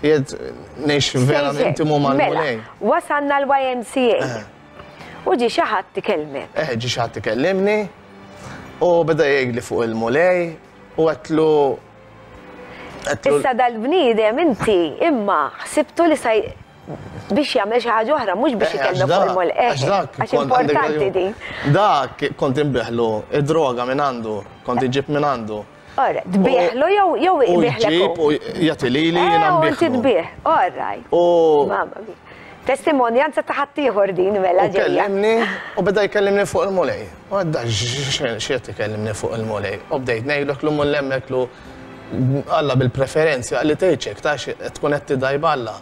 qiegħed ngħix vera intimu mal-Mulej. Mela, wasalna l-YMCA. U ġie xi ħadd ikellmek. Eh, ġie xi ħadd ikellimni u beda jgħidli fuq il-Mulej u għedtlu Issa dal-bniedem inti imma ħsibtu li sa biex jagħmel xi ħaġa oħra mhux biex eh, ikellmek fuq il-Mulej. Eh, għax dak għax importanti din. Dak kont inbiħlu id-droga minn għandu, kont iġib minn għandu. Ora, tbieħlu jew jew ibieħlek. U jġib u jagħti lili jiena eh, nbieħlu. Inti tbieħ, all right. U. Mamma mia. Testimonjanza ta' ħaddieħor din mela ġejja. Kellimni u beda jkellimni fuq il-Mulej. U għadda x'qed ikellimni fuq il-Mulej. U bdejt ngħidlu lu mullemmek lu Alla bil-preferenzi għalli tgħidx ta' tkun qed tidaj b'Alla.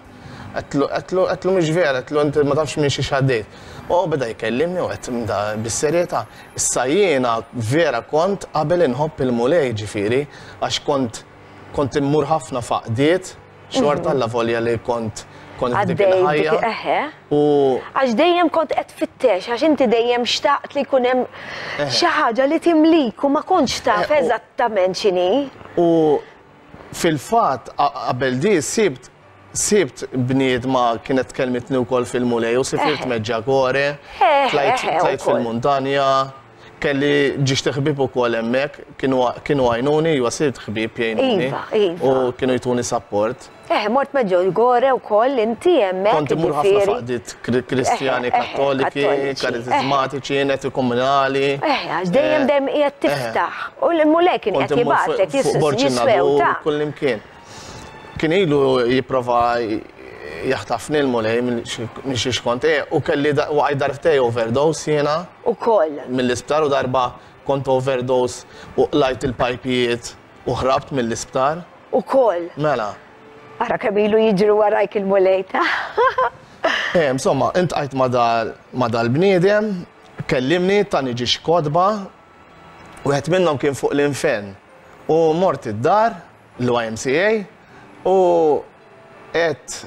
Għedtlu għedtlu mhux vera, għedtlu inti ma tafx minn xiex għaddejt. U beda jkellimni u għedt da bis-serjetà. Issa jiena vera kont qabel inħobb il-Mulej ġifieri għax kont kont immur ħafna f'għaqdiet, xorta alla volja li kont kont f'dik il-ħajja. U għax dejjem kont qed tfittex, għax inti dejjem xtaqt li jkun hemm xi ħaġa li timlik u ma kontx taf eżattament x'inhi. U fil-fatt qabel di sibt Sibt bniedma kienet kellmitni wkoll fil-Mulej u sifirt Medjugorje, tlajt fil-muntanja, kelli ġiex ħbieb ukoll hemmhekk, kienu għajnuni, iva sirt ħbieb jgħinuni. U kienu jtuni sapport. Eh, mort Medjugorje wkoll inti hemmhekk. Kont immur ħafna f'għaqdiet Kristjani Kattoliki, Karitizmatiċi, Netikomunali. Eh, għax dejjem dejjem qiegħed tiftaħ. U l-Mulej kien qiegħed jibgħatlek jiswew ta' Kullimkien. Kien ilu jipprova jaħtafni l-Mulej minn xiex kont eh, u kelli waqajt darbtej overdose jiena. Ukoll. Mill-isptar u darba kont overdose u qlajt il-pajpijiet u ħrabt mill-isptar. Ukoll. Mela. Ara kemm ilu jiġri warajk il-Mulej ta'. Eh, insomma, intqajt ma' dal-bniedem, kellimni tani ġiex kotba, wieħed minnhom kien fuq l-infern. U mort id-dar, l-YMCA u għedt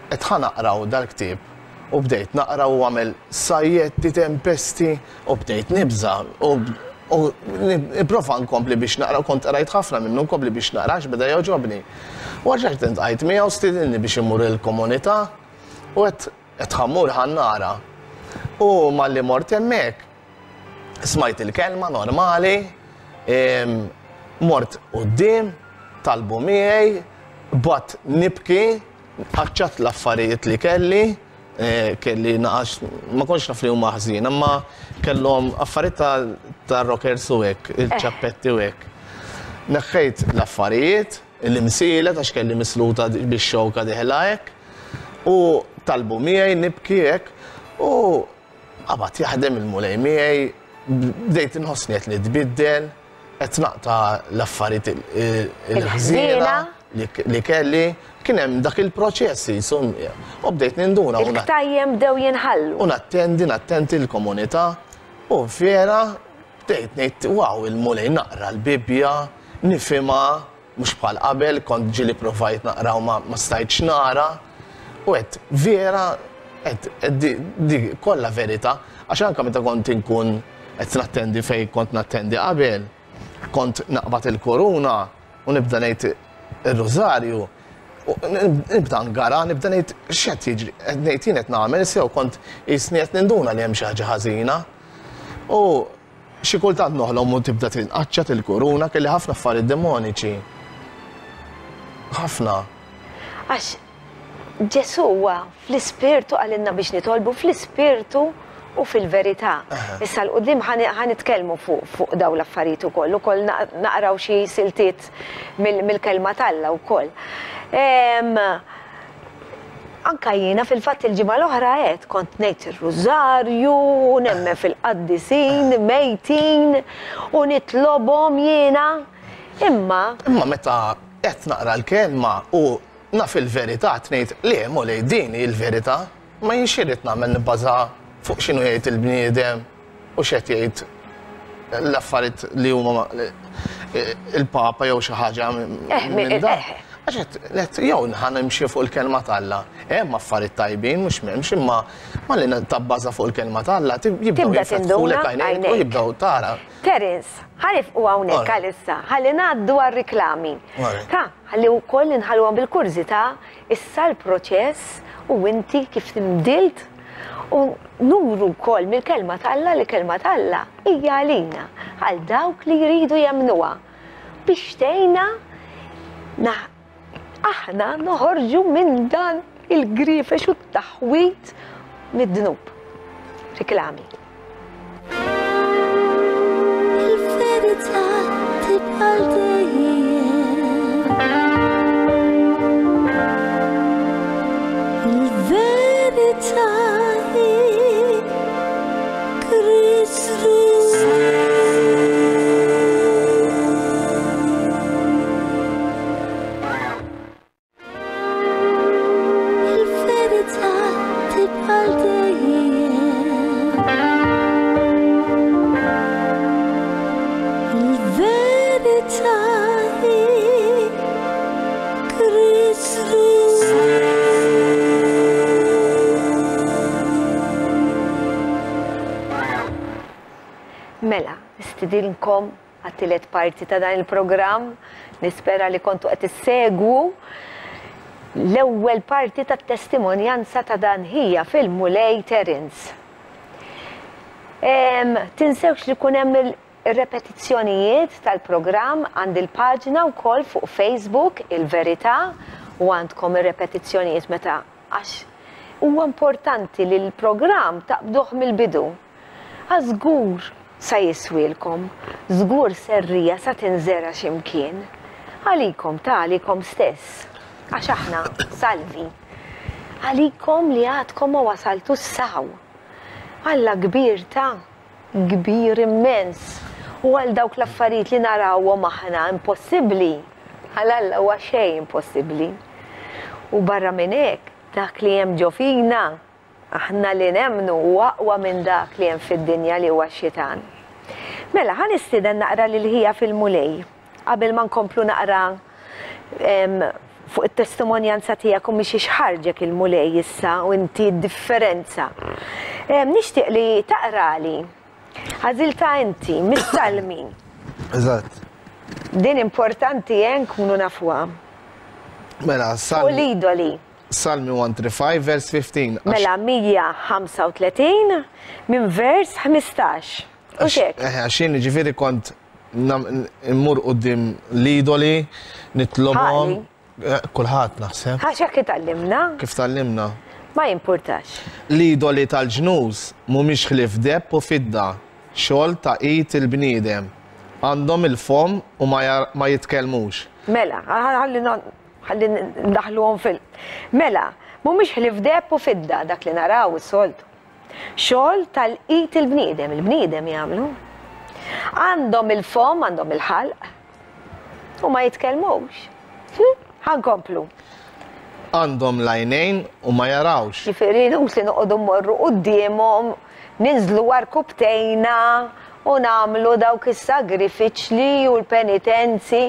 qed ħa naqraw dal-ktieb u bdejt naqra u għamel sajjetti tempesti u bdejt nibża' u u nipprova nkompli biex naqra u kont qrajt ħafna minnu nkompli biex naqra għax beda jogħġobni. U rġajt intqajt miegħu stidinni biex immur il-komunità u għedt qed ħa mmur ħa nara. U malli mort hemmhekk Smajt il-kelma normali, mort quddiem, talbu miegħi, bqgħet nibki, qaċċatt l-affarijiet li kelli, eh, kelli naqax, ma kontx naf li huma ħżiena, imma kellhom affarijiet ta' rockers u hekk, il-ċappetti u hekk. Neħħejt l-affarijiet, l-imsielet għax kelli misluta bix-xewka dieħla hekk, u talbu miegħi nibki hekk, u Qabad jaħdem il-Mulej miegħi, bdejt inħossni qed nitbiddel, qed naqta' l-affarijiet il-ħżiena li kelli. Kien hemm dak il-proċess qisu u bdejt ninduna. Il-ktajjen bdew jinħallu. U nattendi, nattenti l-komunità. U vera bdejt ngħid wow il-Mulej naqra l-Bibbja, nifhimha, mhux bħal qabel, kont ġieli provajt naqra u ma stajtx nara. U għedt vera għedt di kollha verità, għax anke meta kont inkun qed nattendi fejn kont nattendi qabel, kont naqbad il-kuruna u nibda ngħid ir-rużarju, nibda ngara, nibda ngħid x'qed jiġri, qed ngħid jien qed nagħmel sew kont qisni qed ninduna li hemm xi ħaġa ħażina. U xi kultant noħlom u tibda tinqaċċat il-kuruna kelli ħafna affarijiet demoniċi. Ħafna. Għax Ġesù huwa fl-ispirtu qalilna biex nitolbu fl-ispirtu u fil-verità. Issa 'l quddiem ħa nitkellmu fuq dawn l-affarijiet ukoll, ukoll naqraw xi siltiet mill-kelma t'Alla wkoll. Anka jiena fil-fatt il-ġimgħa l-oħra għedt kont ngħid ir-rużarju u nemmen fil-qaddisin mejtin u nitlobhom jiena. Imma. Imma meta qed naqra l-kelma u naf il-verità qed ngħid le Mulej din hi l-verità, ma jien x'irrid nagħmel nibbaża fuq x'inhu jgħid il-bniedem u x'qed jgħid l-affarijiet li huma il-Papa jew xi ħaġa eh, minn dan. Eh, eh. Għax qed jew ħa nimxi fuq il-kelma t'Alla. Hemm affarijiet tajbin mhux m'hemmx imma malli tabbaża fuq il-kelma t'Alla jibdew jiftħulek għajnejk u jibdew tara. Terence, ħa nifqu hawnhekk għalissa, ħalli ngħaddu għar-riklami. Ta' ħalli wkoll inħalluhom bil-kurżità issa l-proċess u inti kif tinbdilt u nuru wkoll mill-Kelma t'Alla li Kelma t'Alla hija għalina, għal dawk li jridu jemmnuha, biex tgħinna aħna noħorġu minn dan il-grifex u t-taħwid mid-dnub. Riklami. Il-verità tibqa' dejjem. Il-verità hi Kristu. Il-verità tibqa' dejjem. Il-verità hi Kristu. Mela, nistidinkom għat-tielet parti ta' dan il-programm. Nispera li kontu qed issegwu l-ewwel parti tat-testimonjanza ta' dan ħija fil-Mulej Terence. Tinsewx li kun hemm ir-repetizzjonijiet tal-programm għand il-paġna wkoll fuq Facebook Il-Verità u għandkom ir-repetizzjonijiet meta għax huwa importanti li l-programm taqbduh mill-bidu. Għax żgur sa jiswielkom, żgur serrija sa tinżera' xi mkien. Għalikom, ta' għalikom stess. Għax aħna salvi. Għalikom li għadkom ma wasaltux s'hawn. Alla kbir ta', kbir immens. U għal dawk l-affarijiet li narawhom aħna impossibbli, għal Alla huwa xejn impossibbli. U barra minn hekk, dak li hemm ġo fina, Aħna li nemmnu hu aqwa minn dak li hemm fid-dinja li huwa x-xitan. Mela, ħa nistieden naqra lil ħija fil-Mulej qabel ma nkomplu naqra fuq it-testimonjanza tiegħek u mhix x'ħarġek il-Mulej issa u inti d-differenza. Nixtieq li taqrali għażiltha inti mis-Salmi. Eżatt. Din importanti eh nkunu nafuha. Mela, Fuq l-idoli. Salmi 135 vers 15. Mela 135 minn vers 15. U xek? Eh, għax jien ġifieri kont immur quddiem l-idoli, nitlobhom. Eh, kulħadd naħseb. Għax hekk itgħallimna. Kif tgħallimna? Ma jimpurtax. L-idoli tal-ġnus mhumiex ħlief deheb u fidda, xogħol ta' id il-bniedem. Għandhom il-fomm u ma jitkellmux. Mela, ħalli Ħalli ndaħħluhom fil. Mela, mhumiex ħlief deheb u fidda, dak li naraw is-soltu. Xogħol tal-id il-bniedem, il-bniedem jagħmlu. Għandhom il-fomm, għandhom il-ħalq, u ma jitkellmux. Hm? Ħa nkomplu. Għandhom l-għajnejn u ma jarawx. Ġifieri inutli noqogħdu mmorru quddiemhom. ninżlu għarkupptejna u nagħmlu dawk is-sagrifiċli u l-penitenzi.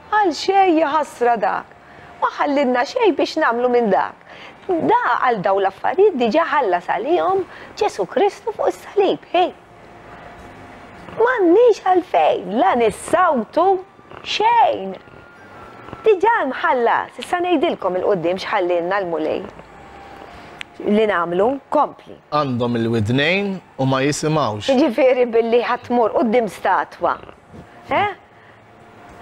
Għal xejn jaħasra dak. Ma ħallilna xejn biex nagħmlu minn dak. Da għal dawn l-affarijiet diġà ħallas għalihom Ġesù Kristu fuq is-salib. Hi. M'għandniex għalfejn la nissawtu xejn. Diġà mħallas, issa ngħidilkom 'il quddiem x'ħallielna l-Mulej li nagħmlu. Kompli. Għandhom il-widnejn u ma jisimgħux. Jiġifieri billi ħa tmur quddiem statwa. Eh?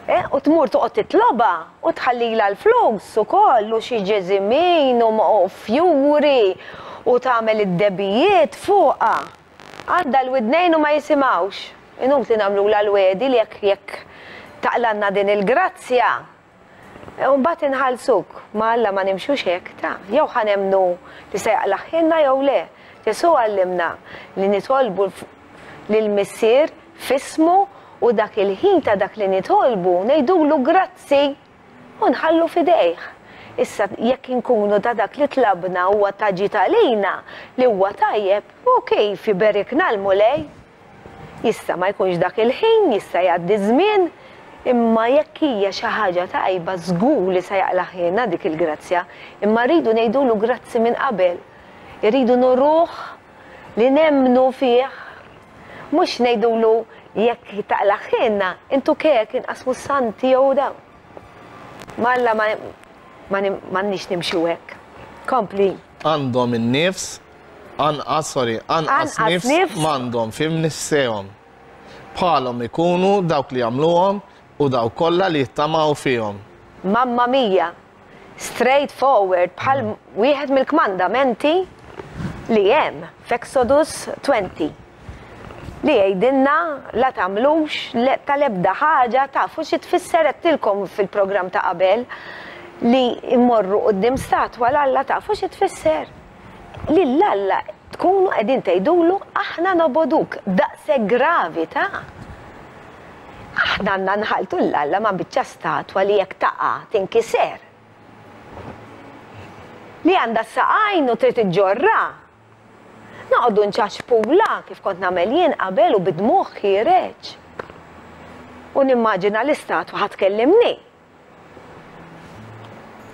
Eh, u tmur toqgħod titlobha u tħallilha l-flus ukoll u xi ġeżimin u fjuri u tagħmel id-debijiet fuqha. Għandha l-widnejn u ma jisimgħux. Inutli nagħmlulha l-wegħdi li jekk jekk taqlgħalna din il-grazzja, u mbagħad inħallsuk. Ma' Alla ma nimxux hekk, ta. Jew ħa nemmnu li se jaqlagħhielna jew le. Ġesù għallimna li nitolbu lill-Missier f'ismu u dak il-ħin ta' dak li nitolbu ngħidulu grazzi u nħallu f'idejh. Issa jekk inkunu ta' dak li tlabna huwa ta' ġid għalina, li huwa tajjeb, u kif iberikna l-Mulej? Jista' ma jkunx dak il-ħin, jista' jgħaddi ż-żmien, imma jekk hija xi ħaġa tajba żgur li se jaqlagħhielna dik il-grazzja. Imma rridu ngħidulu grazzi minn qabel. Irridu nuruh li nemmnu fih, mhux ngħidulu jekk taqlagħhielna, intu kek inqasmu s-santi jew dawn. Ma' Alla ma m'għandniex nimxu hekk. Kompli. Għandhom in-nifs, anqas, sorry, anqas nifs m'għandhom fi mnissehom. Bħalhom ikunu dawk li jagħmluhom u dawk kollha li jittamaw fihom. Mamma mia! Straight forward bħal wieħed mill-kmandamenti li hemm f'Exodus 20 li jgħidilna la tagħmlux tal-ebda ħaġa tafu xi tfisser għedtilkom fil-programm ta' qabel li mmorru quddiem statwa 'l Alla tafu xi tfisser? Lil Alla tkunu qegħdin tgħidulu aħna nobogħduk daqshekk gravi ta'. Aħna għandna nħalltu 'l Alla ma' biċċa statwa li jekk taqa' tinkiser. Li għandha s-saqajn u trid iġġorrha. Noqogħdu nċaċpulha kif kont nagħmel jien qabel u bid-dmugħ ħiereġ. U nimmaġina l-istatwa ħa tkellimni.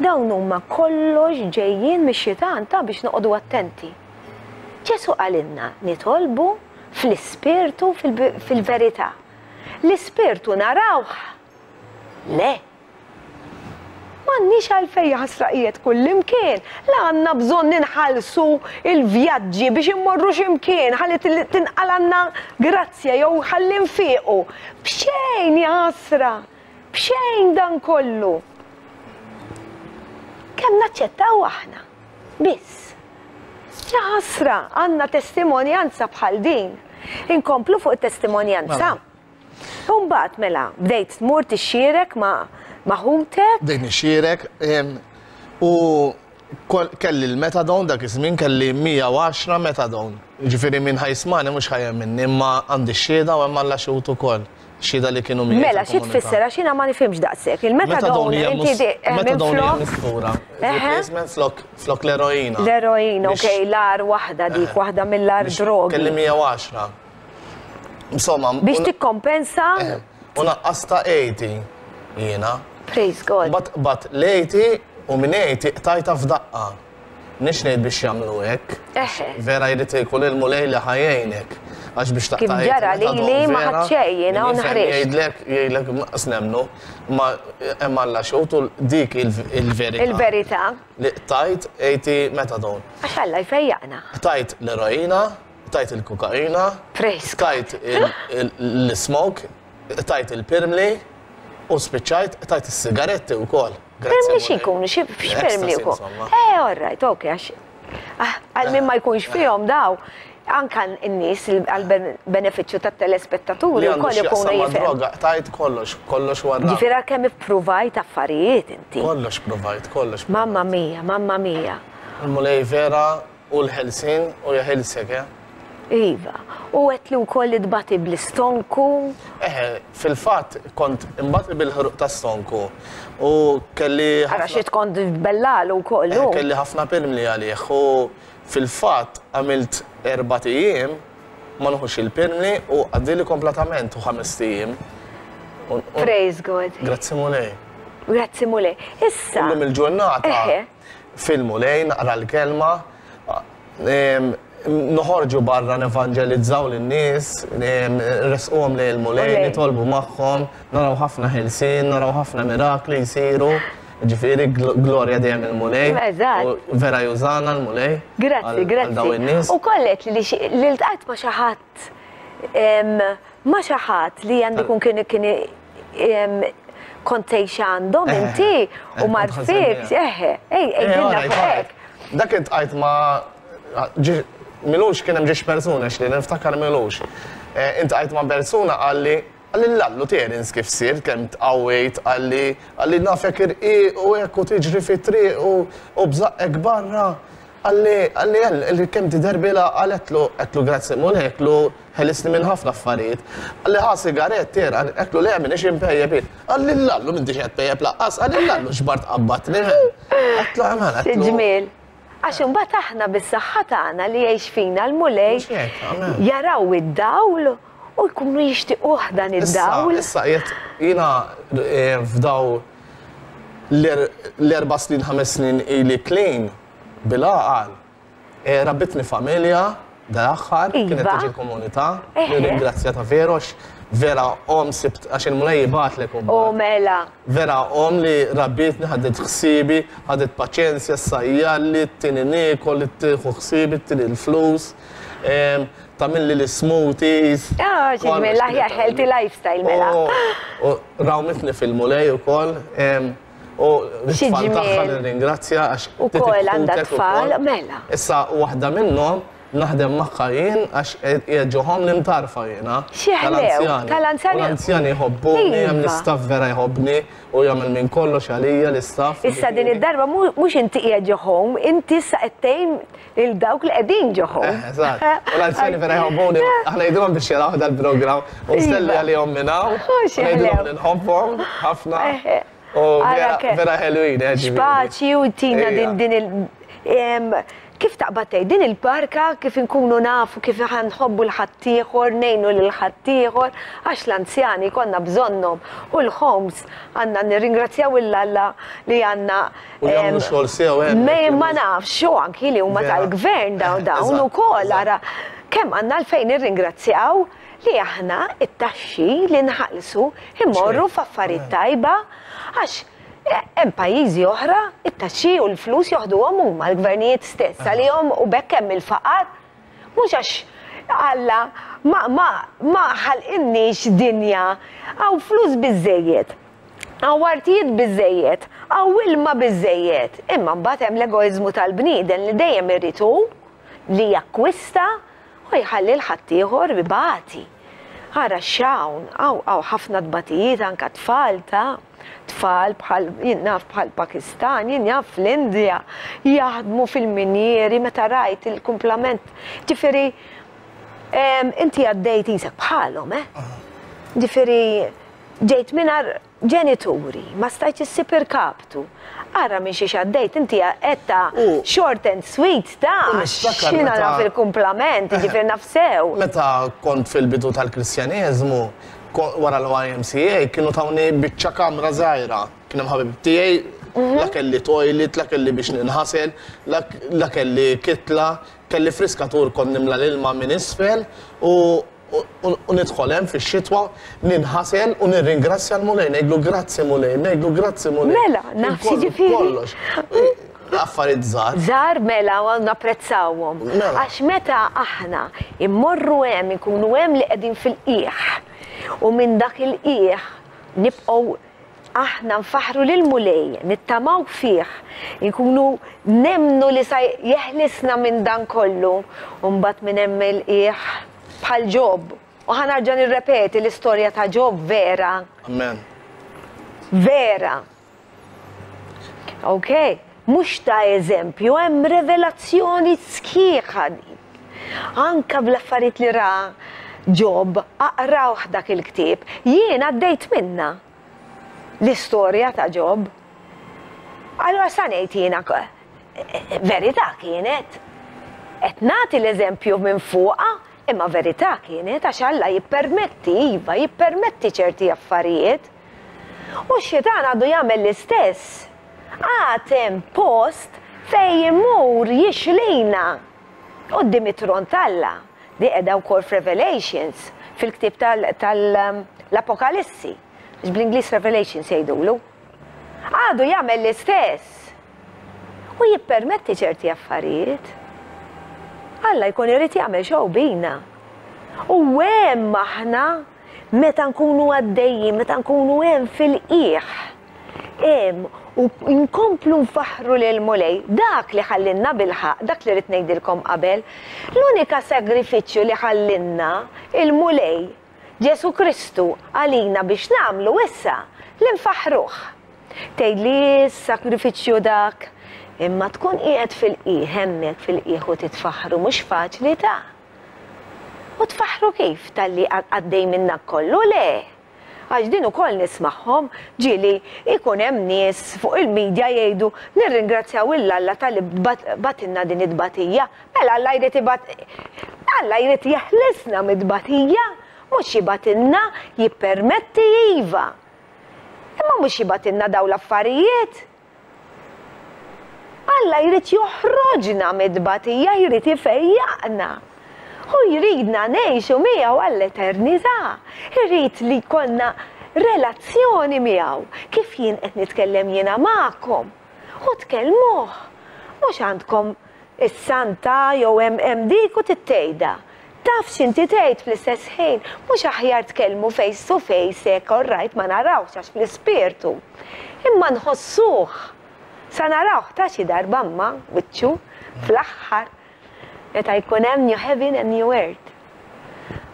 Dawn huma kollox ġejjin mix-xitan ta' biex noqogħdu attenti. Ġesù qalilna nitolbu fl-ispirtu fil-verità. L-ispirtu narawh? Le. M'għandniex għalfejn jaħasra qiegħed kullimkien. La għandna bżonn inħallsu l-vjaġġi biex immorru xi mkien ħalli tinqalgħalna grazzja jew ħalli nfiequ. B'xejn jaħasra! B'xejn dan kollu! Kemm naċċettaw aħna? Biss. Jaħasra, għandna testimonjanza bħal din. Inkomplu fuq it-testimonjanza. Mela. U mbagħad mela, bdejt tmur tixxierek ma' ma' ħutek. Bdejt nixxierek u Kelli l-methadone dak iż-żmien kelli 110 methadone. Jiġifieri min ħa jismagħni mhux ħa jemminni imma għandi x-xhieda u hemm Alla xhud ukoll. Xhieda li kienu miegħi Mela xi tfisser għax jiena ma nifhimx daqshekk. Il-methadone inti Methadone hija mistura. Replacement flok flok l-eroina. L-eroina, okej, l-agħar waħda dik, waħda mill-agħar drogi. Kelli 110. Insomma. Biex tikkompensa. U naqqasta 80 jiena. Praise God. Mbagħad qbadt l-80 u minn 80 qtajtha f'daqqa. M'iniex ngħid biex jagħmlu hekk. Vera jrid ikun il-Mulej li ħa jgħinek. Għax biex taqta' Kif ġara lili ma ħadt xejn jiena u nħriġt. Jgħidlek, jgħidlek naqas nemmnu, imma hemm Alla xhud u dik il-verità. Il-verità. Li qtajt 80 methadone. Għax Alla jfejjaqna. Qtajt l-eroina, qtajt il-kokaina, qtajt l-smoke, qtajt il-pirmli u spiċċajt qtajt is-sigaretti wkoll. Pirmli xi jkunu, x'pirmli jkunu? Eh, all right, ok, għax ah, għal min ma jkunx fihom daw, anka n-nies għal benefiċċju tat-telespettaturi wkoll ikunu jifhmu. Droga, qtajt kollox, kollox wara. Ġifieri kemm ippruvajt affarijiet inti. Kollox provajt, kollox. Mamma mia, mamma mia. Il-Mulej vera Hu l-ħelsien u jeħilsek, eh? Iva. U għedtli wkoll li tbati bl-istonku. Eħe, fil-fatt kont inbati bil-ħruq ta' stonku u kelli. Ara xi tkont tbellalu wkoll hu. Kelli ħafna pirmli għalih u fil-fatt għamilt erbat ijiem. ma nieħux il-pirmli u għaddieli kompletament u ħamest ijiem. Praise God. Grazzi Mulej. Grazzi Mulej. Issa. Illum il-ġurnata fil-Mulej naqra l-kelma noħorġu barra nevanġelizzaw lin-nies, nressquhom lejn il-Mulej, nitolbu magħhom, naraw ħafna ħelsien, naraw ħafna mirakli jsiru. Ġifieri glorja dejjem il-Mulej. Eżatt. Vera jużana l-Mulej. Grazzi, grazzi. U kollet li ltqajt ma' xi ħadd ma' xi ħadd li għandu jkun kien kien kont tgħix għandhom eh, inti u eh, marfik, eħe, ej, ej, hekk. Dak iltqajt ma' milux kien hemm ġiex persuna xli niftakar milux. Eh, Intqajt ma' persuna qalli qalli l-allu Terence kif sirt kemm tqawwejt qalli qalli nafek irqiq u hekk u tiġri fit-triq u bżaqqek barra. Qalli qalli qalli kemm tidher bil-għaqal għedtlu għedtlu grazzi Mulej għedtlu ħelisni minn ħafna affarijiet. Qalli ħa sigarett Ter għedtlu le m'iniex inpejjep jien. Qalli l-allu m'intix qed tpejjep lanqas qalli l-allu xbart qabadtni. Għedtlu amen għedtlu. Ġmiel. Għax imbagħad aħna bis-saħħa tagħna li jgħix fina l-Mulej jaraw id-dawl u jkunu jixtiquh dan id-dawl. Issa qiegħed jiena eh, f'daw l-erba' snin ħames snin ili clean bil-għaqal. Eh, rabbitni familja dal-aħħar kienet iva. tiġi l-komunità, nirringrazzja ta' veru vera om sibt għax il-mulej jibgħatlek U mela. Vera omm li rabbietni, ħadet ħsiebi, ħadet paċenzja, ssajjarli, ttini niekol, tieħu ħsiebi, ttini l-flus, tagħmilli l-ismoothies. Ah, xi ġmiel, l-aħjar healthy lifestyle mela. U rawmitni fil-Mulej ukoll. U t-tfal tagħha nirringrazzja għax. Ukoll għandha tfal, mela. Issa waħda minnhom Naħdem magħha jien għax qiegħed ġo home nimtarfa jiena. Xi ħlew, tal-anzjani. U l-anzjani jħobbuni, hemm l-istaff vera jħobbni u jagħmel minn kollox għalija l-istaff. Issa din id-darba mhux inti qiegħed ġo home, inti issa qed tgħin lil dawk li qegħdin ġo home. Eh, eżatt. U l-anzjani vera jħobbuni, aħna ngħidilhom biex jaraw dal-programm u nselli għalihom minn hawn. Ngħidilhom li nħobbhom ħafna. U vera ħelwin, eh, X'paċi u tina din din il kif taqbad tgħid din il-barka kif inkunu nafu kif nħobbu l-ħaddieħor, ngħinu lil ħaddieħor, għax l-anzjani konna bżonnhom u l-homes għandna nirringrazzjaw 'il Alla li għandna. U jagħmlu xogħol sew hemm. Ma nafx, u anki li huma tal-gvern dawn dawn ukoll ara kemm għandna għalfejn nirringrazzjaw li aħna t-taxxi li nħallsu jmorru f'affarijiet tajba għax hemm pajjiżi oħra t-taxxi u l-flus joħduhom huma l-gvernijiet stess għalihom u b'hekk hemm il-faqar. Mhux għax Alla ma ma ma ħalqilniex dinja hawn flus biżżejjed, hawn artijiet biżżejjed, hawn ilma biżżejjed, imma mbagħad hemm l-egoiżmu tal-bniedem li dejjem irid hu li jakkwista U jħalli 'l ħaddieħor ibati. Ara x'hawn, hawn hawn ħafna tbatijiet anke tfal ta' tfal bħal jien naf bħal Pakistan, jien naf fl-Indja jaħdmu fil-minjieri meta rajt il-kumplament. Ġifieri inti għaddejt isek bħalhom, eh? Ġifieri ġejt mingħajr Ġenituri, ma stajtx issib irkaptu. Ara minn xiex għaddejt, inti għedtha short and sweet ta' x'jiena naf il-kumplament, jiġifieri naf sew. Meta kont fil-bidu tal-Kristjaneżmu, wara l-YMCA, kienu tawni biċċa kamra żgħira. Kien hemm ħabib tiegħi, la kelli toilet, la kelli biex ninħasel, la kelli kitla, kelli friskatur kont nimla l-ilma minn isfel u U nidħol hemm fix-xitwa, ninħasel u nirringrazzja l-Mulej, ngħidlu grazzi Mulej, ngħidlu grazzi Mulej. Mela, naf jiġifieri. Kollox. Affarijiet żgħar. Żgħar mela u napprezzawhom. Mela. Għax meta aħna immorru hemm inkunu hemm li qegħdin fil-qiegħ u minn dak il-qiegħ nibqgħu aħna nfaħħru lill-Mulej, nittamaw fih, inkunu nemmnu li sa jeħlisna minn dan kollu, u mbagħad minn hemm il-qiegħ bħal Ġob. U ħa nerġa' nirrepeti l-istorja ta' Ġob vera. Amen. Vera. Ok? Mhux ta' eżempju, hemm revelazzjoni sħiħa din. Anka bl-affarijiet li ra Ġob, aqrawh dak il-ktieb. Jien għaddejt minnha l-istorja ta' Ġob. Allura sa ngħid jiena verità kienet. Qed nagħti l-eżempju minn fuqha. Imma verità kienet għax Alla jippermetti, iva, jippermetti ċerti affarijiet. U x-xitan għadu jagħmel l-istess. Għad hemm post fejn imur jixlina quddiem it-tron t'Alla. Di qiegħda wkoll f'Revelations, fil-ktieb tal-Apokalissi, għax bl-Ingliż Revelations jgħidulu. Għadu jagħmel l-istess. U jippermetti ċerti affarijiet. Alla jkun irid jagħmel show bina. U hemm aħna meta nkunu għaddejjin, meta nkunu hemm fil-qiegħ. Hemm u nkomplu nfaħħru lill-Mulej, dak li ħallinna bilħaqq, dak li ridt ngħidilkom qabel, l-unika sagrifiċċju li ħallinna il-Mulej Ġesù Kristu għalina biex nagħmlu issa li nfaħħruh. Tgħidli s-sagrifiċċju dak, imma tkun qiegħed fil-qiegħ hemmhekk fil-qiegħ u titfaħħru mhux faċli ta'. U tfaħħru kif talli għaddej minn dak kollu? Le! Għax din ukoll nismagħhom, ġieli jkun hemm nies fuq il-media jgħidu nirringrazzjaw 'il Alla talli bagħtilna din it-tbatija. Mela Alla jrid ibgħat Alla jrid jeħlisna mit-tbatija, mhux jibgħatilna, jippermetti iva. Imma mhux jibgħatilna dawn l-affarijiet. Alla jrid joħroġna mit-tbatija, jrid ifejjaqna. Hu jridna ngħixu miegħu għall-eternità. Irid li jkollna relazzjoni miegħu, kif jien qed nitkellem jiena magħkom. U tkellmuh. Mhux għandkom is-santa jew hemm hemm dik u tittejda. Taf x'inti tgħid fl-istess ħin, mhux aħjar tkellmu face to face hekk all right ma narawhx għax fl-ispirtu. Imma nħossuh. Sa narawh ta' xi darba imma wiċċu fl-aħħar meta jkun hemm new heaven and new earth.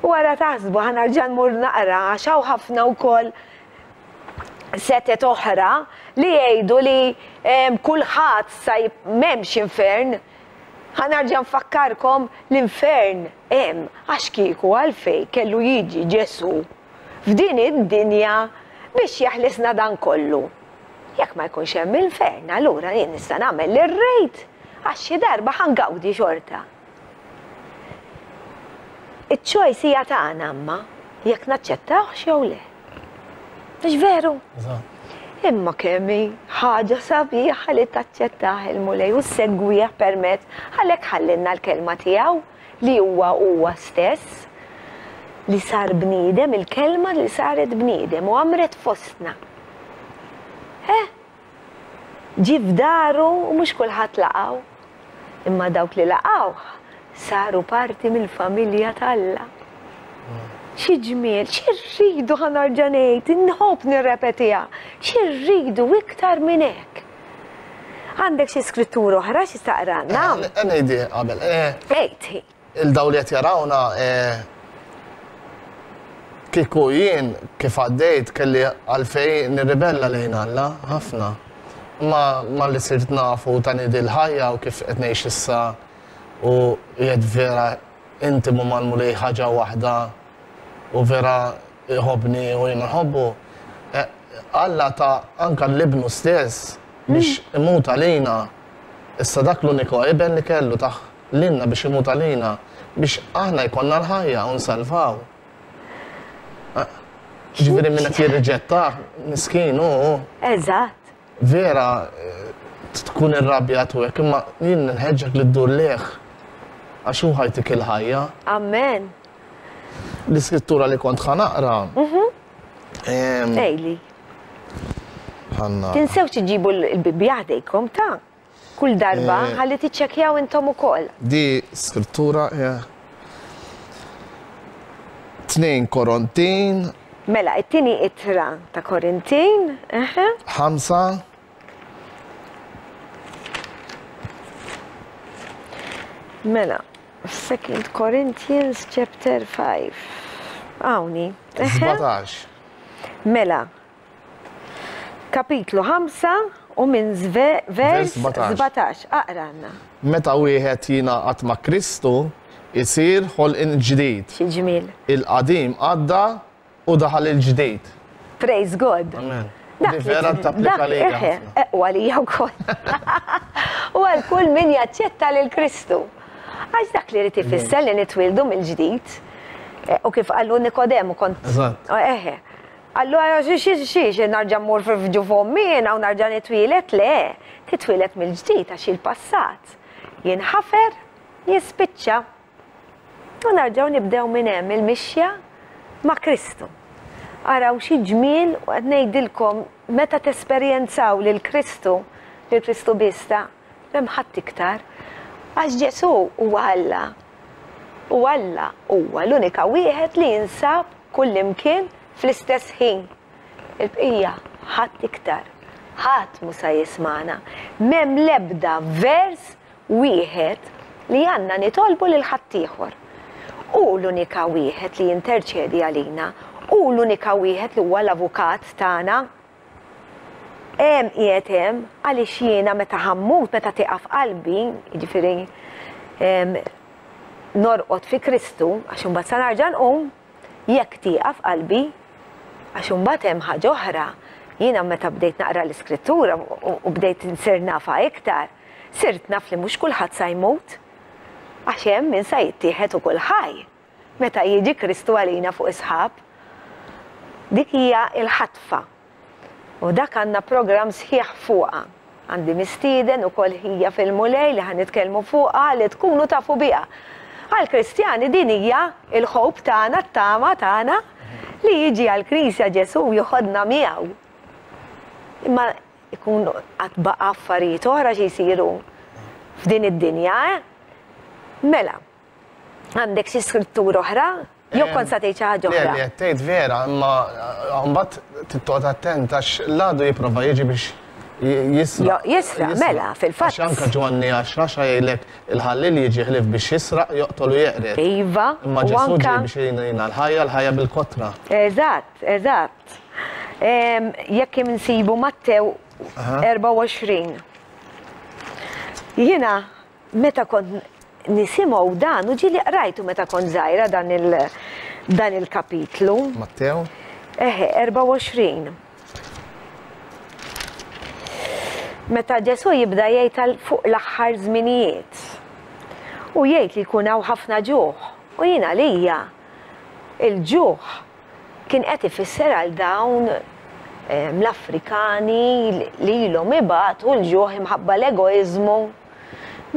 U ara taħsbu ħa nerġa' nmur naqra għax hawn ħafna wkoll setet oħra li jgħidu li kulħadd sa m'hemmx infern. Ħa nerġa' nfakkarkom l-infern hemm għax kieku għalfejn kellu jiġi Ġesù f'din id-dinja biex jeħlisna dan kollu. Jekk ma jkunx hemm infern allura jien nista' nagħmel li rrid għax xi darba ħa ngawdi xorta. Iċ-choice hija tagħna imma jekk naċċettawhx jew le. Mhux veru? Imma kemm hi ħaġa sabiħa li taċċettah il-Mulej u ssegwih permezz għalhekk ħallinna l-kelma tiegħu li huwa huwa stess li sar bniedem, il-kelma li saret bniedem u għamret fostna. Eh? Ġie f'daru u mhux kulħadd laqgħu. Imma dawk li laqgħuh saru parti mill-familja t'Alla. Xi ġmiel, xi rridu ħa nerġa' ngħid, inħobb nirrepetiha, xi rridu iktar minn hekk? Għandek xi skrittura oħra xi taqralna? Eh, ngħidi qabel. Eh, Għid. Il-dawl li qed jarawna eh, kieku jien kif għaddejt kelli għalfej nirribella lejn Alla ħafna. Ma ma li sirt nafu ta' nidi l-ħajja u kif qed ngħix issa u qiegħed vera intimu mal-Mulej ħaġa waħda u vera jħobbni u jiena nħobbu. Eh, Alla ta anka l-ibnu stess biex imut għalina. Issa dak l-uniku iben li kellu tah lilna biex imut għalina, biex aħna jkollna l-ħajja u nsalvaw. Ġifieri min qed jirriġettah, miskin hu. Eżatt. Vera tkun irrabjat u hekk, imma jien nħeġġek li ddur lejh għax hu ħajtik il-ħajja. Amen. L-iskrittura li kont ħa naqra. Mhm. Ejli. Ħanna. Tinsewx iġibu l-Bibbja ħdejkom ta' kull darba eh, ħalli tiċċekkjaw intom ukoll. Di skrittura eh, 2 Korintin. Mela, it-tieni ittra ta' Korintin. Ħamsa. Mela, Second Corinthians chapter 5. Awni. 17. Mela, Kapitlu 5 u minn vers 17. Aqra għandna. Meta wieħed jingħaqad ma' Kristu, isir ħolqien ġdid. Xi ġmiel. Il-qadim għadda u daħal il-ġdid. Praise God. Amen. Dak vera tapplika lija. U għalija wkoll. U għal kull min jaċċetta lil Kristu. Għax dak li jrid ifisser li nitwieldu mill-ġdid. Eh, u kif qallu Nikodemu kont. Eżatt. Oh, eħe. Qallu xi xi xi xi narġa' mmur f'ġuf ommi jiena u narġa' nitwieled le, titwieled mill-ġdid għax il-passat jinħafer, jispiċċa. U narġgħu nibdew minn hemm il-mixja ma' Kristu. Araw xi ġmiel u qed ngħidilkom meta tesperjenzaw lil Kristu, lil Kristu biss ta' m'hemm ħadd iktar. Għax Ġesù huwa Alla. U Alla huwa l-unika wieħed li jinsab kullimkien fl-istess ħin. Il-bqija ħadd iktar. Ħadd mhu sa jismagħna. M'hemm l-ebda vers wieħed li għandna nitolbu lil ħaddieħor. Hu l-unika wieħed li jinterċedi għalina. Hu l-unika wieħed li huwa l-avukat tagħna. Hemm qiegħed hemm għaliex jiena meta ħa mmut, meta tieqaf qalbi, jiġifieri norqod fi Kristu, għax imbagħad sa narġa' nqum, Jekk tieqaf qalbi, għax imbagħad hemm ħaġa oħra, jiena meta bdejt naqra l-Iskrittura u bdejt insir nafha iktar, sirt naf li mhux kulħadd sa jmut, għax hemm min sa jittieħed ukoll ħaj meta jiġi Kristu għalina fuq is-sħab. Dik hija l-ħatfa. U dak għandna programm sħiħ fuqha. Għandi mistieden ukoll ħija fil-Mulej li ħa nitkellmu fuqha li tkunu tafu biha. Għall-Kristjani din hija l-hope tagħna, t-tama tagħna li jiġi għall-Knisja Ġesù u joħodna miegħu. Imma ikun għad baqa' affarijiet oħra xi jsiru f'din id-dinja, eh? Mela, għandek xi skrittura oħra? Jew kont sa tgħid xi ħaġa oħra? Le, li qed tgħid vera, imma mbagħad trid toqgħod attent għax l-għadu jipprova jiġi biex jisraq. Jisraq, mela, fil-fatt. Għax anke Ġwanni 10 jgħidlek il-ħalliel jiġi ħlief biex jisraq, joqtol u jeqred. Iva. Imma Ġesù ġie biex jagħtina l-ħajja, l-ħajja bil-kotra. Eżatt, eżatt. Jekk insibu Mattew 24. Jiena Meta kont nisimgħu dan, u ġieli qrajtu meta kont żgħira dan il dan il-kapitlu. Mattew? Eħe, 24. Meta Ġesù jibda jgħid għal fuq l-aħħar żminijiet. U jgħid li jkun hawn ħafna ġuħ. U jien għalija il-ġuħ kien qed ifisser għal dawn l-Afrikani li ilhom ibatu l-ġuħ imħabba l-egoiżmu,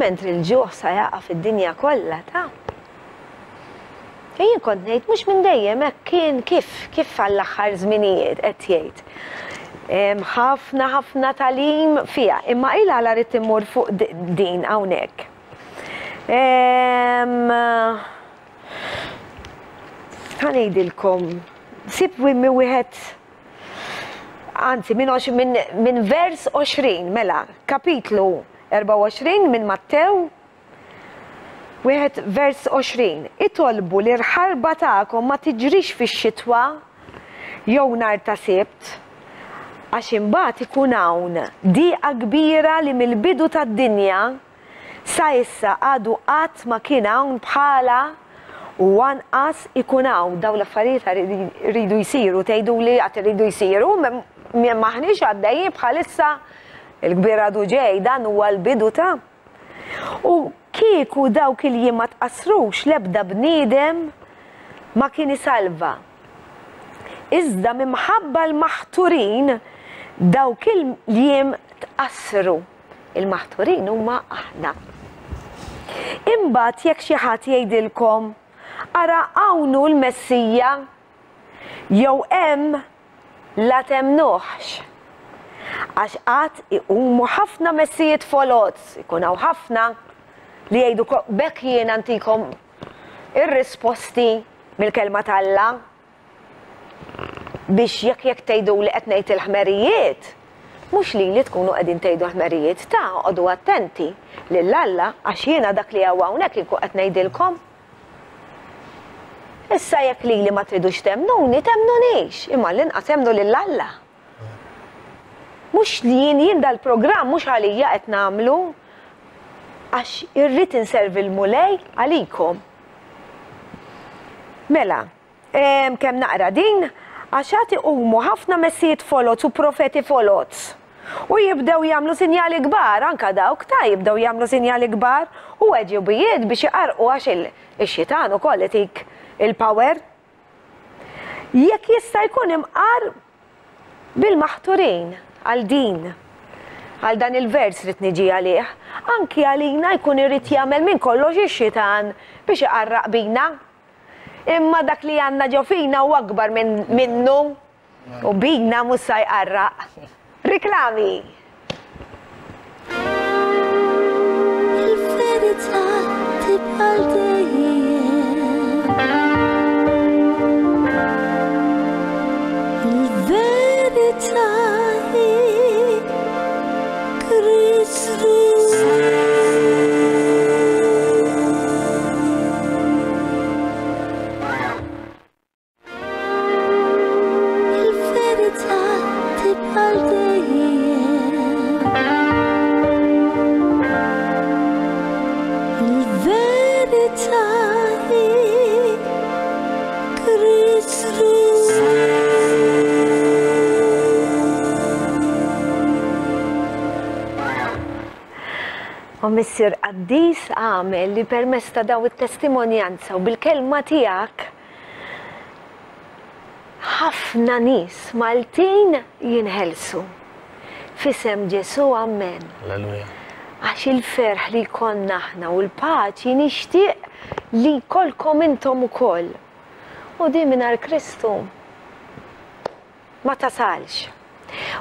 mentri l-ġuħ sa jaqa' fid-dinja kollha ta'. Jien kont ngħid mhux minn dejjem hekk kien kif kif għall-aħħar żminijiet qed jgħid. Ħafna ħafna tagħlim fiha, imma il għala rrid immur fuq din hawnhekk. Ħa ngħidilkom, sib minn wieħed anzi minn min, min vers 20, mela, kapitlu 24 minn Mattew, wieħed vers 20. Itolbu li l-ħarba tagħkom ma tiġrix fix-xitwa jew nhar ta' Sibt, għax imbagħad ikun hawn diqa kbira li mill-bidu tad-dinja Sa issa għadu qatt ma kien hawn bħalha u anqas ikun hawn. Dawn l-affarijiet iridu jsiru, tgħiduli għad iridu jsiru, m'aħniex għaddejjin bħalissa, il-kbir għadu ġej, dan huwa l-bidu ta'. U kieku dawk il-jiem ma tqassrux l-ebda bniedem ma kien isalva. Iżda minħabba l-maħturin dawk il-jiem tqassru. Il-maħturin huma aħna. Imbagħad jekk xi ħadd jgħidilkom, 'Ara hawn hu l-Messija' jew 'Hemm', la temmnuhx. Għax għad iqumu ħafna messijiet foloz, ikun hawn ħafna li jgħidu b'hekk jiena ntikom ir-risposti mill-Kelma t'Alla. Biex jekk jekk tgħiduli qed ngħid il-ħmerijiet, mhux lili tkunu qegħdin tgħidu l-ħmerijiet, ta' oqogħdu attenti lil Alla għax jiena dak li hawn hawnhekk inkun qed ngħidilkom. Issa jekk lili ma tridux temmnuni, temmnunix, imma l-inqas emmnu lil Alla. Mhux li jien jien dal-programm mhux għalija qed nagħmlu għax irrid inservi l-Mulej għalikom. Mela, kemm naqra din, għax għad iqumu ħafna messijiet foloz u profeti foloz. U jibdew jagħmlu sinjali kbar, anka dawk ta' jibdew jagħmlu sinjali kbar u għeġubijiet biex iqarrqu għax ix-xitan ukoll itik il-power. Jekk jista' jkun imqar bil-maħturin għal din, għal dan il-vers rrid niġi għalih, anki għalina jkun irid jagħmel minn kollox ix-xitan biex iqarraq bina. Imma dak li għandna ġo fina hu akbar minnu u bina mhux sa jqarraq. Riklami! Il-verità tibqa' għal dejjem. Il-verità hi Kristu. Il-verità tibqa' għal dejjem. Il-verità hi Kristu. O Missier Qaddis, agħmel li permezz ta' dawn it-testimonjanza u bil-kelma tiegħek ħafna nies Maltin jinħelsu. F'isem Ġesù, ammen. Alleluja. Għax il-ferħ li jkollna aħna u l-paċi nixtieq li jkollkom intom ukoll. U din mingħajr Kristu ma tasalx.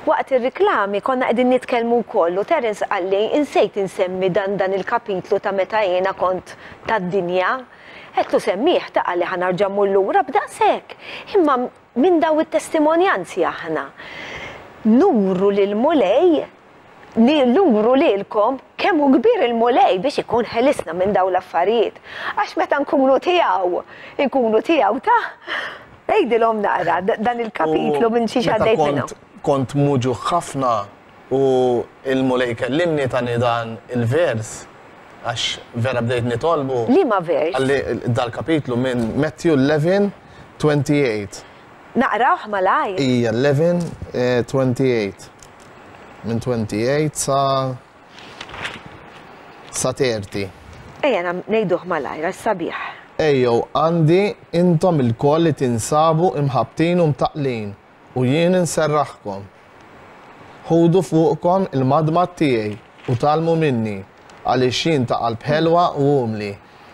Waqt ir-riklami konna qegħdin nitkellmu wkoll u Terence qalli insejt insemmi dan dan il-kapitlu ta' meta jiena kont tad-dinja. Għedtlu semmih ta' qalli ħa narġa' mmur lura b'daqshekk. Imma minn daw it-testimonjanzi aħna nuru lill-Mulej, nuru lilkom kemm hu kbir il-Mulej biex ikun ħelisna minn dawn l-affarijiet. Għax meta nkunu tiegħu, inkunu tiegħu ta' Għidilhom naqra dan il-kapitlu minn xiex għaddejt minnu. Kont muġugħ ħafna u l-Mulej kellimni tani dan il-vers għax vera bdejt nitolbu. Liema vers? Qalli dal-kapitlu minn Matthew 11:28. Naqrawh malajr. Ija 11:28. Minn 28 sa sa 30. Ejja ngħiduh malajr għax sabiħ. Ejjew għandi intom ilkoll li tinsabu imħabbtin u mtaqqlin, u jien inserraħkom. Ħudu fuqkom il-madmad tiegħi u tgħallmu minni, għaliex jien ta' qalb ħelwa u umli,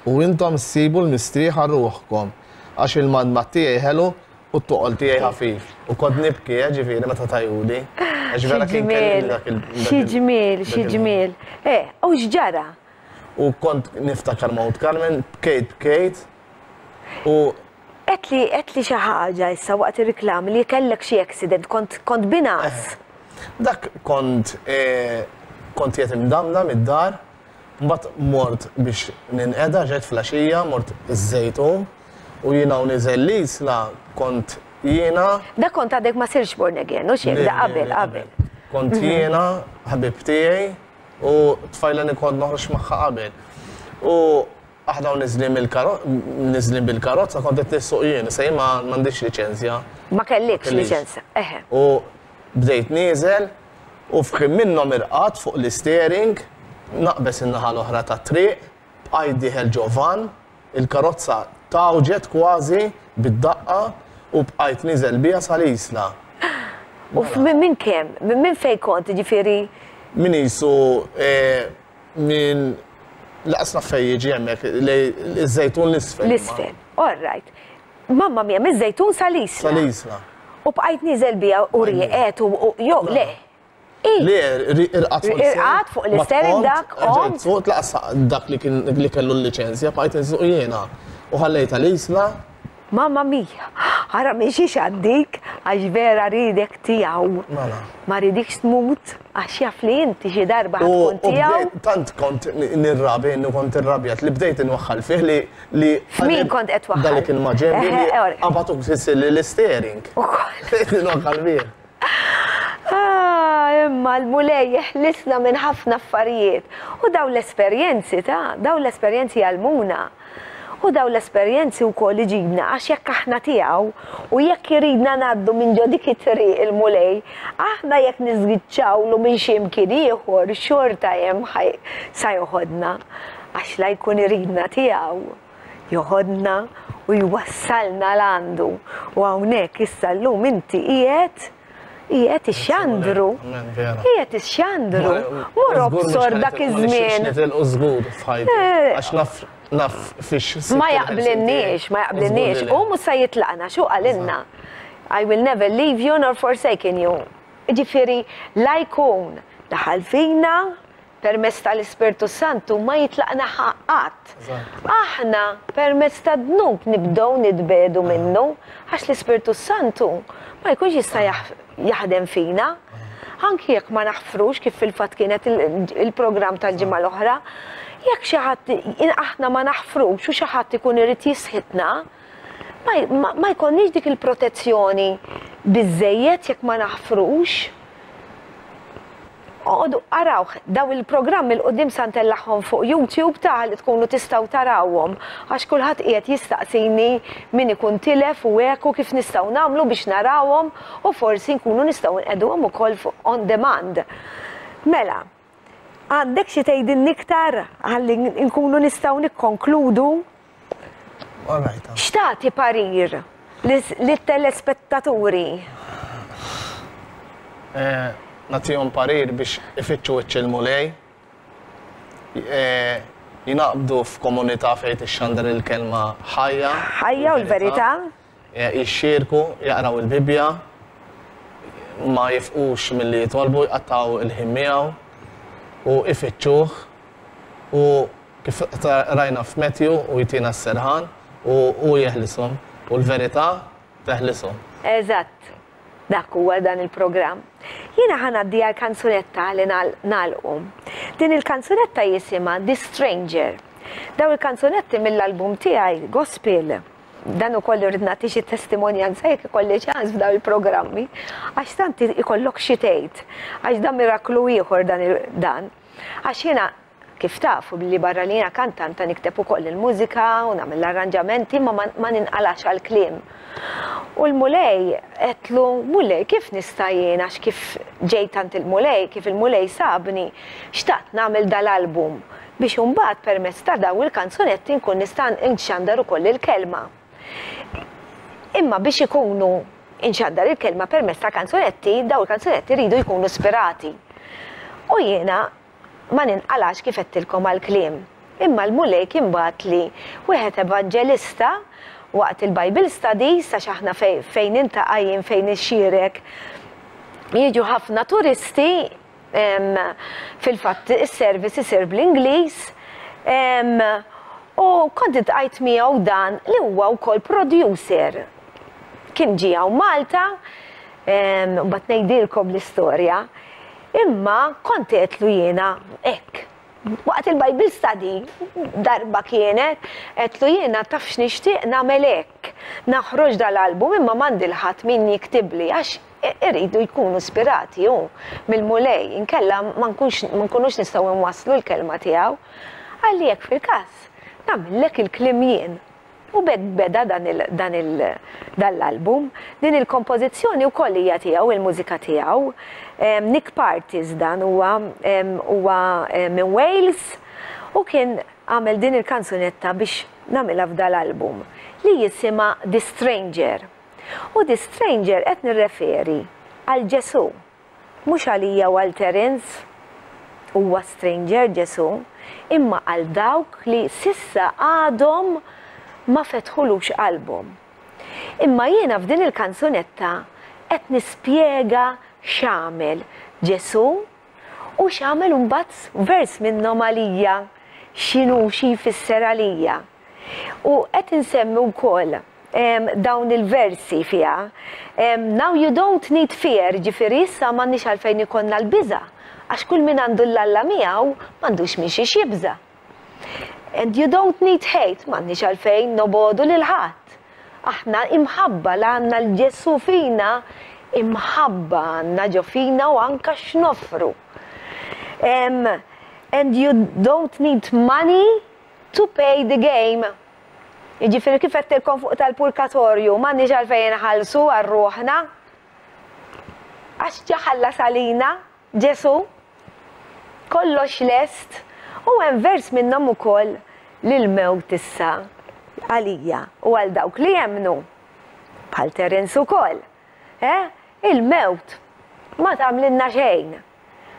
u intom ssibu l-mistrieħ għal ruħkom, għax il-madmad tiegħi ħelu u t-toqol tiegħi ħafif. U kont nibki, eh, ġifieri meta tajuli. Għax vera kien kellimni dak il. Xi ġmiel, xi ġmiel. Eh, u x'ġara? U kont niftakar Mount Carmen, bkejt bkejt. U Għedtli għedtli xi ħaġa issa waqt ir-riklami li kellek xi accident, kont kont bingħas. Dak kont eh, kont qiegħed imdamdam id-dar, mbagħad mort biex ninqeda ġejt flaxija, mort iż-Żejtun u jiena u niżel l-Isla kont jiena. Dak kont għadek ma sirx born again, hux hekk, da qabel, qabel. Kont jiena, ħabib tiegħi u tfajla li kont noħroġ magħha qabel. U Aħna u niżlin mill-karozza, niżlin bil-karozza kont qed nissuq jien, issa jien ma m'għandix liċenzja. Ma kellikx liċenzja, eħe. U bdejt nieżel u f'ħin minnhom irqadt fuq l-isteering, naqbeż in-naħa l-oħra tat-triq, bqajt dieħel ġo vann, il-karozza tgħawġet kważi bid-daqqa u bqajt nieżel biha sal-Isla. U minn kemm? Minn fejn kont, jiġifieri? Min qisu Minn laqas naf fejn jiġi hemmhekk lej iż-Żejtun l-isfel. L-isfel. All right. Mamma mia, miż-Żejtun sal-Isla. Sal-Isla. U bqajt nieżel biha u rieqed u jew le. Le, irqadt fuq l-isteering. Irqadt fuq l-isteering dak. Erġajt suqt laqas dak li kien li kellu l-liċenzja bqajt insuq jiena. U ħallejtha l-Isla. Mamma mia, ara minn xiex għaddik għax vera riedek tiegħu. Mela. Ma ridikx tmut għax jaf li inti xi darba ħa tkun tiegħu. Tant kont nirrabi innu kont irrabjat li bdejt inwaħħal fih li li. F'min kont qed twaħħal? Dak li kien ma' ġenbi li qabad u kisirli l-isteering. Ukoll. Bdejt inwaħħal fih. Ah, imma l-Mulej jeħlisna minn ħafna affarijiet. U dawn l-esperjenzi ta' dawn l-esperjenzi jgħallmuna. U dawn l-esperjenzi wkoll iġibna għax jekk aħna tiegħu u jekk iridna ngħaddu minn ġo dik it-triq il-Mulej, aħna jekk niżgiċċawlu minn xi mkien ieħor xorta hemm sa joħodna għax la jkun iridna tiegħu joħodna u jwassalna 'l għandu. U hawnhekk issa llum inti qiegħed Qiegħed ixxandru. Qiegħed ixxandru. Mur obsor dak iż-żmien. Nitilqu żgur f'ħajti. Eh. Għax naf naf fiex. Ma jaqblinniex, ma jaqblinniex. U mhux se jitlaqna, xu qalilna. I will never leave you nor forsaken you. Ġifieri la jkun daħal fina, Permezz tal-Ispirtu s-Santu ma jitlaqna qatt. Aħna permezz tad-dnub nibdew nitbiegħdu minnu għax l-Ispirtu s-Santu ma jkunx jista' jaħdem fina. Anki jekk ma naħfrux kif fil-fatt kienet il-programm tal-ġimgħa l-oħra, jekk xi ħadd aħna ma naħfrux u xi ħadd ikun irid jisħitna, ma jkollniex dik il-protezzjoni biżżejjed jekk ma naħfrux. Oqogħdu arawh, daw il-programmi 'l quddiem sa ntellagħhom fuq YouTube ta' li tkunu tistgħu tarawhom għax kulħadd qiegħed jistaqsini min ikun tilef u hekk u kif nistgħu nagħmlu biex narawhom u forsi nkunu nistgħu nqegħduhom ukoll fuq on demand. Mela, għandek xi tgħidilni iktar ħalli nkunu nistgħu nikkonkludu? X'tagħti parir lit-telespettaturi? Eh, nagħtihom parir biex ifittxu wiċċ il-Mulej, eh, jinaqbdu f'komunità fejn tixxandar il-kelma ħajja. Ħajja u l-verità. Eh, jixxierku, jaqraw il-Bibbja, ma jifqux milli jitolbu, jqattgħu il-ħin miegħu u ifittxuh u Kif rajna f'Matthew, hu jtina s-serħan u hu jeħlishom, u l-verità teħlishom. Eżatt. Dak huwa dan il-programm. Jiena ħa ngħaddi għal kanzunetta li nagħlqu. Din il-kanzunetta jisimha The Stranger. Dawn il-kanzunetti mill-album tiegħi Gospel. Dan ukoll irrid nagħti xi testimonjanza jekk ikolli ċans f'dawn il-programmi, għax tant ikollok xi tgħid. Għax dan miraklu ieħor dan dan. Għax jiena Kif tafu, billi barra li jiena kantanta nikteb ukoll il-mużika u nagħmel l-arranġamenti imma ma ninqalax għall-kliem. U l-Mulej għedtlu, Mulej kif nista' jien għax kif ġejt għand il-Mulej, kif il-Mulej sabni, xtaqt nagħmel dal-album biex imbagħad permezz ta' dawn il-kanzunetti nkun nista' nxandar ukoll il-kelma. Imma biex ikunu inxandar il-kelma permezz ta' kanzunetti, dawn il-kanzunetti jridu jkunu spirati. U jiena Ma ninqalax kif għedtilkom għall-kliem. Imma l-Mulej kien bagħatli wieħed evanġelista waqt il-Bible studies għax aħna fejn niltaqa' jien fejn ixxierek jiġu ħafna turisti fil-fatt is-service isir bl-Ingliż u kont iltqajt miegħu dan li huwa wkoll producer. Kien ġie hawn Malta, mbagħad ngħidilkom l-istorja. Imma kont għedtlu jiena hekk. Waqt il-Bible study darba kienet, għedtlu jiena taf x'nixtieq nagħmel hekk. Naħroġ dal-album imma m'għandi 'l ħadd min jiktibli għax iridu jkunu spirati hu mill-Mulej inkella ma nkunx ma nkunux nistgħu nwasslu l-kelma tiegħu. Qalli jekk fil-każ nagħmillek il-kliem jien. U b'hekk beda dan il, dan il, dan l-album. Din il-kompożizzjoni wkoll hija tiegħu, il-mużika tiegħu. Nick Partis dan huwa, huwa minn Wales u kien għamel din il-kanzunetta biex nagħmilha f'dal-album li jisimha The Stranger. U The Stranger qed nirreferi għal Ġesù. Mhux għalija u għal Terence, huwa stranger Ġesù, imma għal dawk li s'issa għadhom ma fetħulux qalbhom. Imma jiena f'din il-kanzunetta qed nispjega x'għamel Ġesù u x'għamel imbagħad vers minnhom għalija, x'inhu xi jfisser għalija. U qed insemmi wkoll dawn il-versi fiha. Now you don't need fear, ġifieri issa m'għandniex għalfejn ikollna l-biża', għax kull min għandu 'l Alla miegħu m'għandux minn xiex jibża'. And you don't need hate, m'għandniex għalfejn nobogħdu lil ħadd. Aħna imħabba la għandna 'l Ġesù fina, imħabba għandna ġo fina u anka x'noffru. And you don't need money to pay the game. Jiġifieri kif għedtilkom fuq tal-purkatorju, m'għandniex għalfejn inħallsu għal ruħna. Għax ġa ħallas għalina Ġesù. Kollox lest. U hemm vers minnhom ukoll li l-mewt issa għalija u għal dawk li jemmnu, bħal Terence ukoll, eh, il-mewt ma tagħmlilna xejn.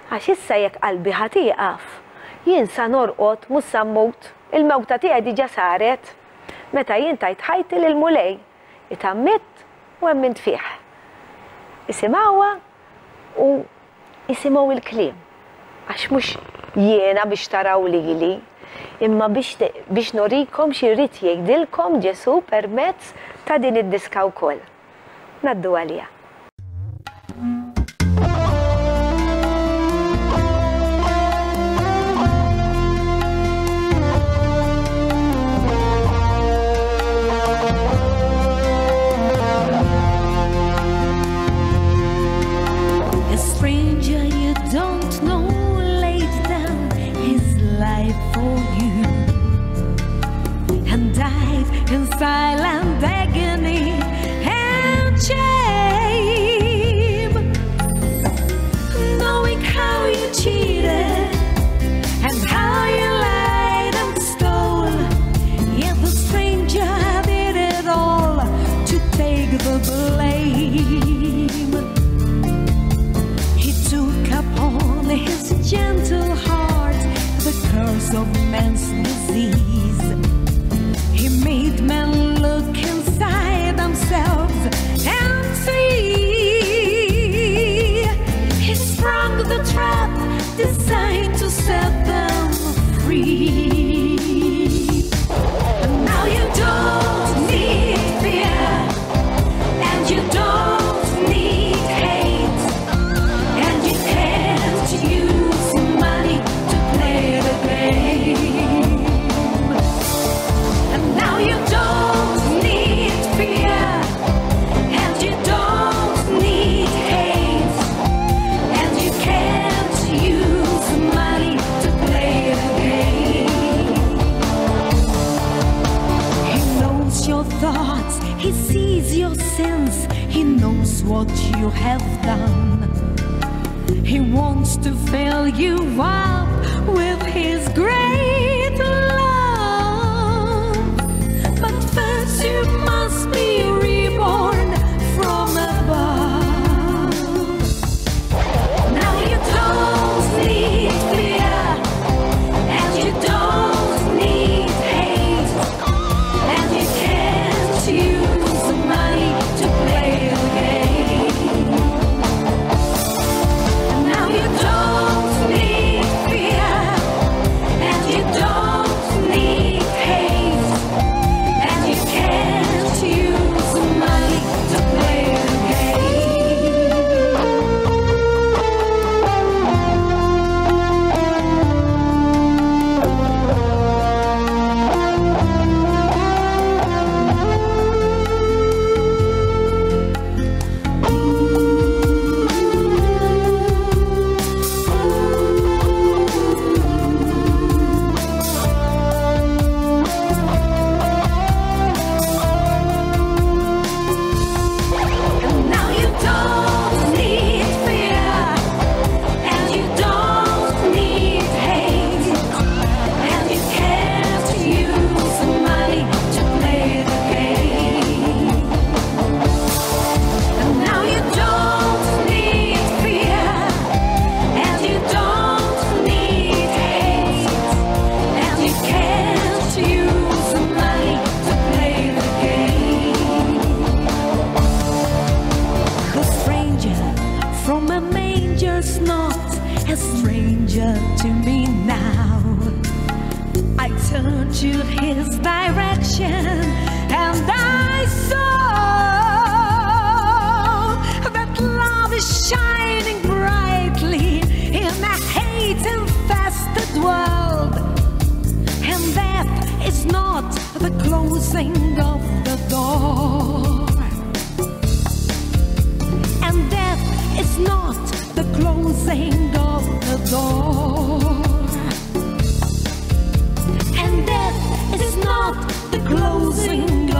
Għax issa jekk qalbi ħa tieqaf, jien sa norqod mhux sa mmut, il-mewta tiegħi diġà saret meta jien tajt ħajti lill-Mulej, itgħammidt u emmint fih. Isimgħuha u isimgħu l-kliem, għax mhux jiena biex taraw lili, imma biex biex nurikom xi jrid jgħidilkom Ġesù permezz ta' din id-diska wkoll. Ngħaddu għaliha. A stranger you don't know laid down his life for you and died in silent agony and shame, knowing how you cheated and how you lied and stole. Yet the stranger did it all to take the blame. He took upon his gentle heart the curse of man's disease. He made men look inside themselves and see. He sprung the trap designed to set them free. And now you don't need fear, and you don't need hate, and you can't use money to play the game. And now you don't need fear, and you don't need hate, and you can't use money to play the game. He knows your thoughts, he sees your sins, he knows what you have done. He wants to fill you up with his great love. But first you must be reborn from above. Now you don't need fear, and you don't need hate, and you can't use money to play the game. Now you don't need fear, and you don't need hate, and you can't use money to play the game. And now you don't need fear, and you don't need hate, and you can't use money to play the game. And now you don't need fear, and you don't need hate, and you can't use money to play the game. The stranger from a manger's not a stranger to me now. I turned to his direction and I saw that love is shining brightly in a hate-infested world. And death is not the closing of the door. And death is not the closing of the door. And death is not the Closing.